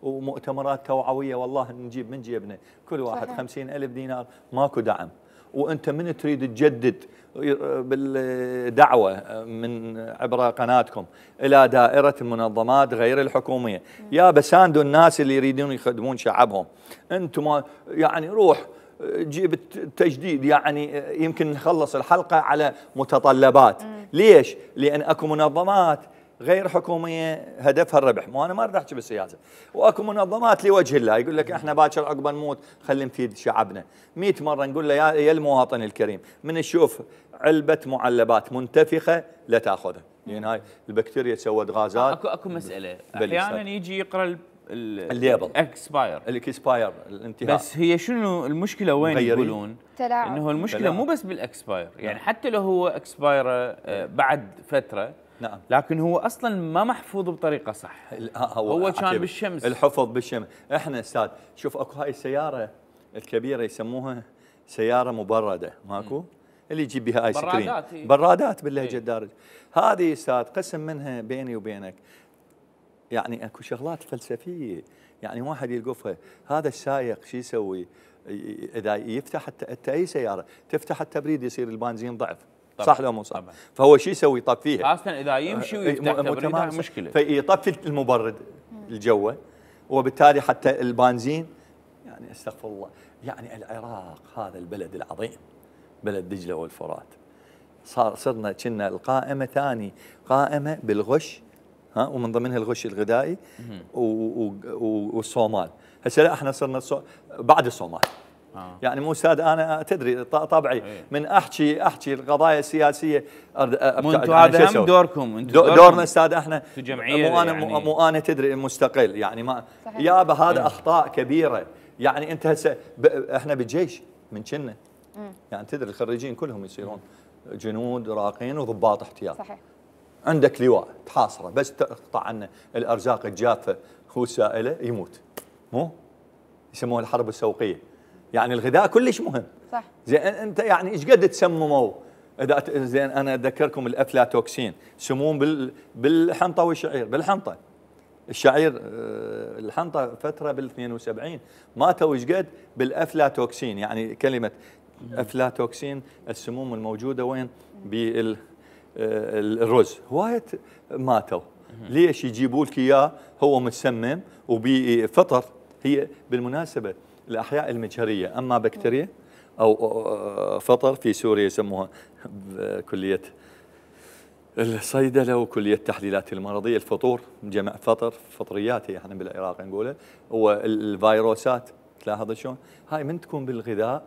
ومؤتمرات توعويه والله نجيب من جيبنا كل واحد 50,000 دينار، ماكو دعم. وانت من تريد تجدد بالدعوه من عبر قناتكم الى دائره المنظمات غير الحكوميه، يا بساندوا الناس اللي يريدون يخدمون شعبهم. انتم يعني روح جيب التجديد، يعني يمكن نخلص الحلقه على متطلبات. ليش؟ لان اكو منظمات غير حكوميه هدفها الربح، مو انا ما اريد احكي بالسياسه، واكو منظمات لوجه الله يقول لك احنا باكر عقب نموت خلينا نفيد شعبنا. 100 مره نقول له يا المواطن الكريم من تشوف علبه معلبات منتفخه لا تاخذها، لان هاي البكتيريا تسود غازات. اكو مساله احيانا يجي يقرا الليبل الاكسباير الانتهاء، بس هي شنو المشكله وين يقولون؟ انه المشكله تلاعب. مو بس بالاكسباير، يعني حتى لو هو اكسباير بعد فتره نعم، لكن هو اصلا ما محفوظ بطريقه صح. هو كان بالشمس، الحفظ بالشمس. احنا استاذ شوف اكو هاي السياره الكبيره يسموها سياره مبرده، ماكو؟ اللي يجيب بها ايس كريم، برادات باللهجه الدارجه. هذه استاذ قسم منها بيني وبينك يعني اكو شغلات فلسفيه، يعني واحد يلقفها. هذا السائق شو يسوي؟ اذا يفتح انت اي سياره تفتح التبريد يصير البنزين ضعف، صح لو مو صح؟ طبعا. فهو شو يسوي؟ يطفيها، خاصه اذا يمشي ويفتح تبريد مشكله، فيطفي المبرد الجوي، وبالتالي حتى البنزين يعني استغفر الله. يعني العراق هذا البلد العظيم، بلد دجله والفرات، صرنا كنا القائمه ثاني قائمه بالغش، ها، ومن ضمنها الغش الغذائي والصومال. هسه لا احنا صرنا بعد الصومال. يعني مو استاذ انا تدري طبعي من احكي القضايا السياسيه. انتم هذا هم دوركم، دورنا استاذ احنا في جمعيه، مو انا تدري مستقل يعني ما يابا هذا اخطاء كبيره. يعني انت هسه احنا بالجيش من كنا يعني تدري الخريجين كلهم يصيرون جنود راقين وضباط احتياط. صحيح. عندك لواء تحاصره بس تقطع عنه الارزاق الجافه والسائله يموت. مو يسموها الحرب السوقيه. يعني الغذاء كلش مهم. صح. زين انت يعني ايش قد تسمموا؟ اذا زين انا اذكركم الافلاتوكسين، سموم بالحنطه والشعير. بالحنطه الشعير الحنطه فتره بال 72 ماتوا ايش قد بالافلاتوكسين. يعني كلمه افلاتوكسين السموم الموجوده وين؟ بالرز هوايه ماتوا. ليش؟ يجيبوا لك اياه هو متسمم وبفطر. هي بالمناسبه الاحياء المجهريه اما بكتيريا او فطر في سوريا يسموها كليه الصيدله وكليه التحليلات المرضيه الفطور، جمع فطر، فطريات هي احنا بالعراق نقولها. والفيروسات تلاحظ شلون؟ هاي من تكون بالغذاء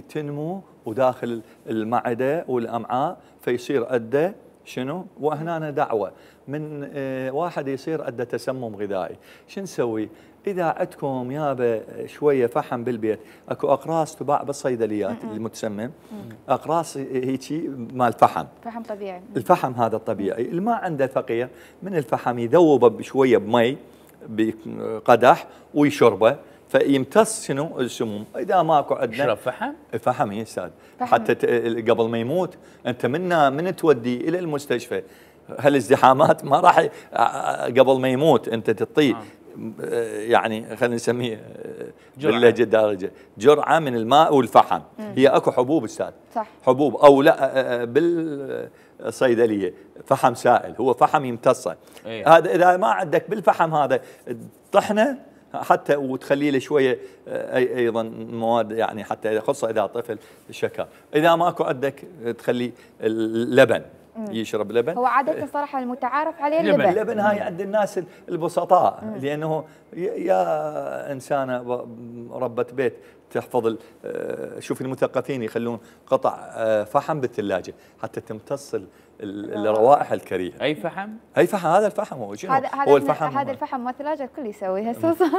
تنمو وداخل المعده والامعاء فيصير عنده شنو؟ وهنا دعوه من واحد يصير عنده تسمم غذائي. شو نسوي؟ اذا عندكم يابا شويه فحم بالبيت، اكو اقراص تباع بالصيدليات المتسمم، اقراص هيجي مال فحم طبيعي. الفحم هذا الطبيعي. اللي ما عنده فقير من الفحم يذوبه بشويه بمي بقدح ويشربه فيمتص شنو؟ السموم. اذا ماكو عندنا يشرب فحم؟ الفحم يا استاذ حتى قبل ما يموت. انت من تودي الى المستشفى هالازدحامات ما راح قبل ما يموت انت تعطيه يعني خلينا نسميه باللهجه الدارجه جرعه من الماء والفحم. هي اكو حبوب استاذ، صح، حبوب او لا بالصيدليه فحم سائل، هو فحم يمتصه. هذا اذا ما عندك بالفحم هذا طحنه حتى وتخلي له شويه ايضا مواد يعني حتى خصوصا اذا طفل شكر. اذا ماكو عندك تخلي اللبن يشرب لبن. هو عادة صراحة المتعارف عليه اللبن هاي عند الناس البسطاء لأنه يا إنسانة ربة بيت تحفظ شوف المثقفين يخلون قطع فحم بالثلاجة حتى تمتص الروائح الكريهة. أي فحم؟ أي فحم. هذا الفحم هو شنو؟ هو الفحم. هذا الفحم ما الثلاجة الكل يسوي هسه صار.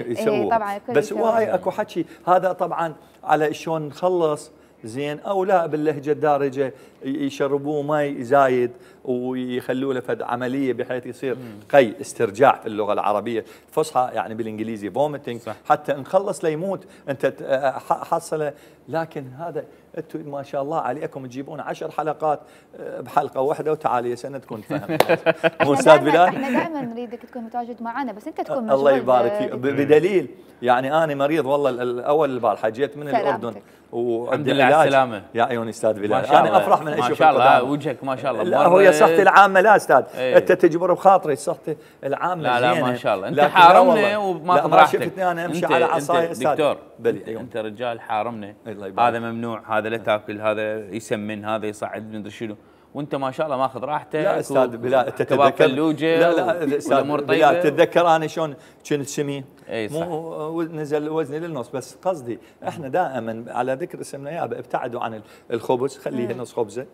يسوي طبعا الكل بس هواي اكو حكي هذا طبعا على شلون نخلص زين او لا باللهجه الدارجه يشربوه مي زايد ويخلوا له فد عمليه بحيث يصير قي استرجاع في اللغه العربيه الفصحى يعني بالانجليزي فوميتنج حتى نخلص ليموت انت حصله. لكن هذا انتم ما شاء الله عليكم تجيبون 10 حلقات بحلقه واحده وتعالي سنتكم فهم. مو استاذ بلال؟ احنا دائما نريدك تكون متواجد معنا بس انت تكون مشغول. الله يبارك فيك. بدليل يعني انا مريض والله الاول البارحه جيت من الاردن وعندي العلاج. على السلامه يا عيوني استاذ بلال. انا افرح من اشوفك ما شاء الله وجهك ما شاء الله. لا هو صحتي العامه لا استاذ انت تجبر بخاطري صحتي العامه لا لا ما شاء الله انت حارمنا وما ما شفتني انا امشي على عصاي استاذ دكتور. انت رجال حارمنا هذا ممنوع هذا لا تاكل هذا يسمن هذا يصعد مدري شنو وانت ما شاء الله ماخذ راحتك. لا استاذ بلال انت تتذكر لا استاذ بلال تتذكر انا شلون كنت سمين صح. مو نزل وزني للنص بس قصدي احنا دائما على ذكر اسمنا يابا ابتعدوا عن الخبز خليه نص خبزه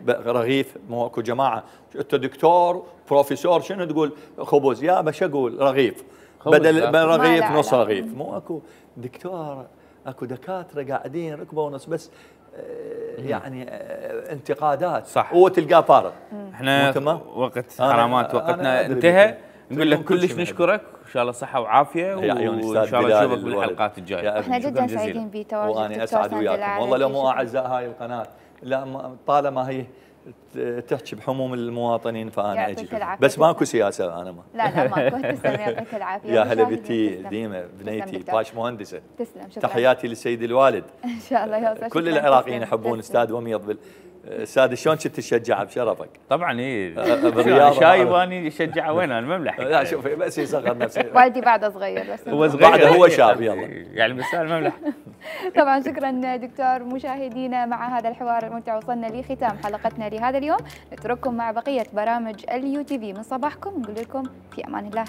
رغيف. مو اكو جماعه انت دكتور بروفيسور شنو تقول خبز يابا شو اقول رغيف بدل رغيف نص رغيف. مو اكو دكتور اكو دكاتره قاعدين ركبه ونص بس يعني انتقادات صح وتلقاه فارغ. احنا وقت حرامات وقتنا انتهى. نقول لك كلش نشكرك ان شاء الله صحه وعافيه وان شاء الله نشوفك بالحلقات الجايه. احنا جدا سعيدين بتواجدك وانا اسعد وياكم والله. لو مو اعزاء هاي القناه لا طالما هي تحكي بحموم المواطنين فانا اجي، العافية. بس ماكو سياسه انا ما. لا ماكو. تسلم يعطيك العافيه. يا هلا بنتي ديمه بنيتي باش مهندسه. تسلم شكرا. تحياتي للسيد الوالد. ان شاء الله يوصل. كل العراقيين يحبون استاذ وميض. استاذ شلون كنت تشجعه بشرفك؟ طبعا اي شايب اني اشجعه وين انا المملح. لا شوفي بس يصغر نفسه. والدي بعده صغير بس هو صغير بعده هو شاب يلا يعني بس المملح. طبعا شكرا دكتور. مشاهدينا مع هذا الحوار الممتع وصلنا لختام حلقتنا لهذا اليوم. نترككم مع بقيه برامج اليو تي في من صباحكم، نقول لكم في امان الله.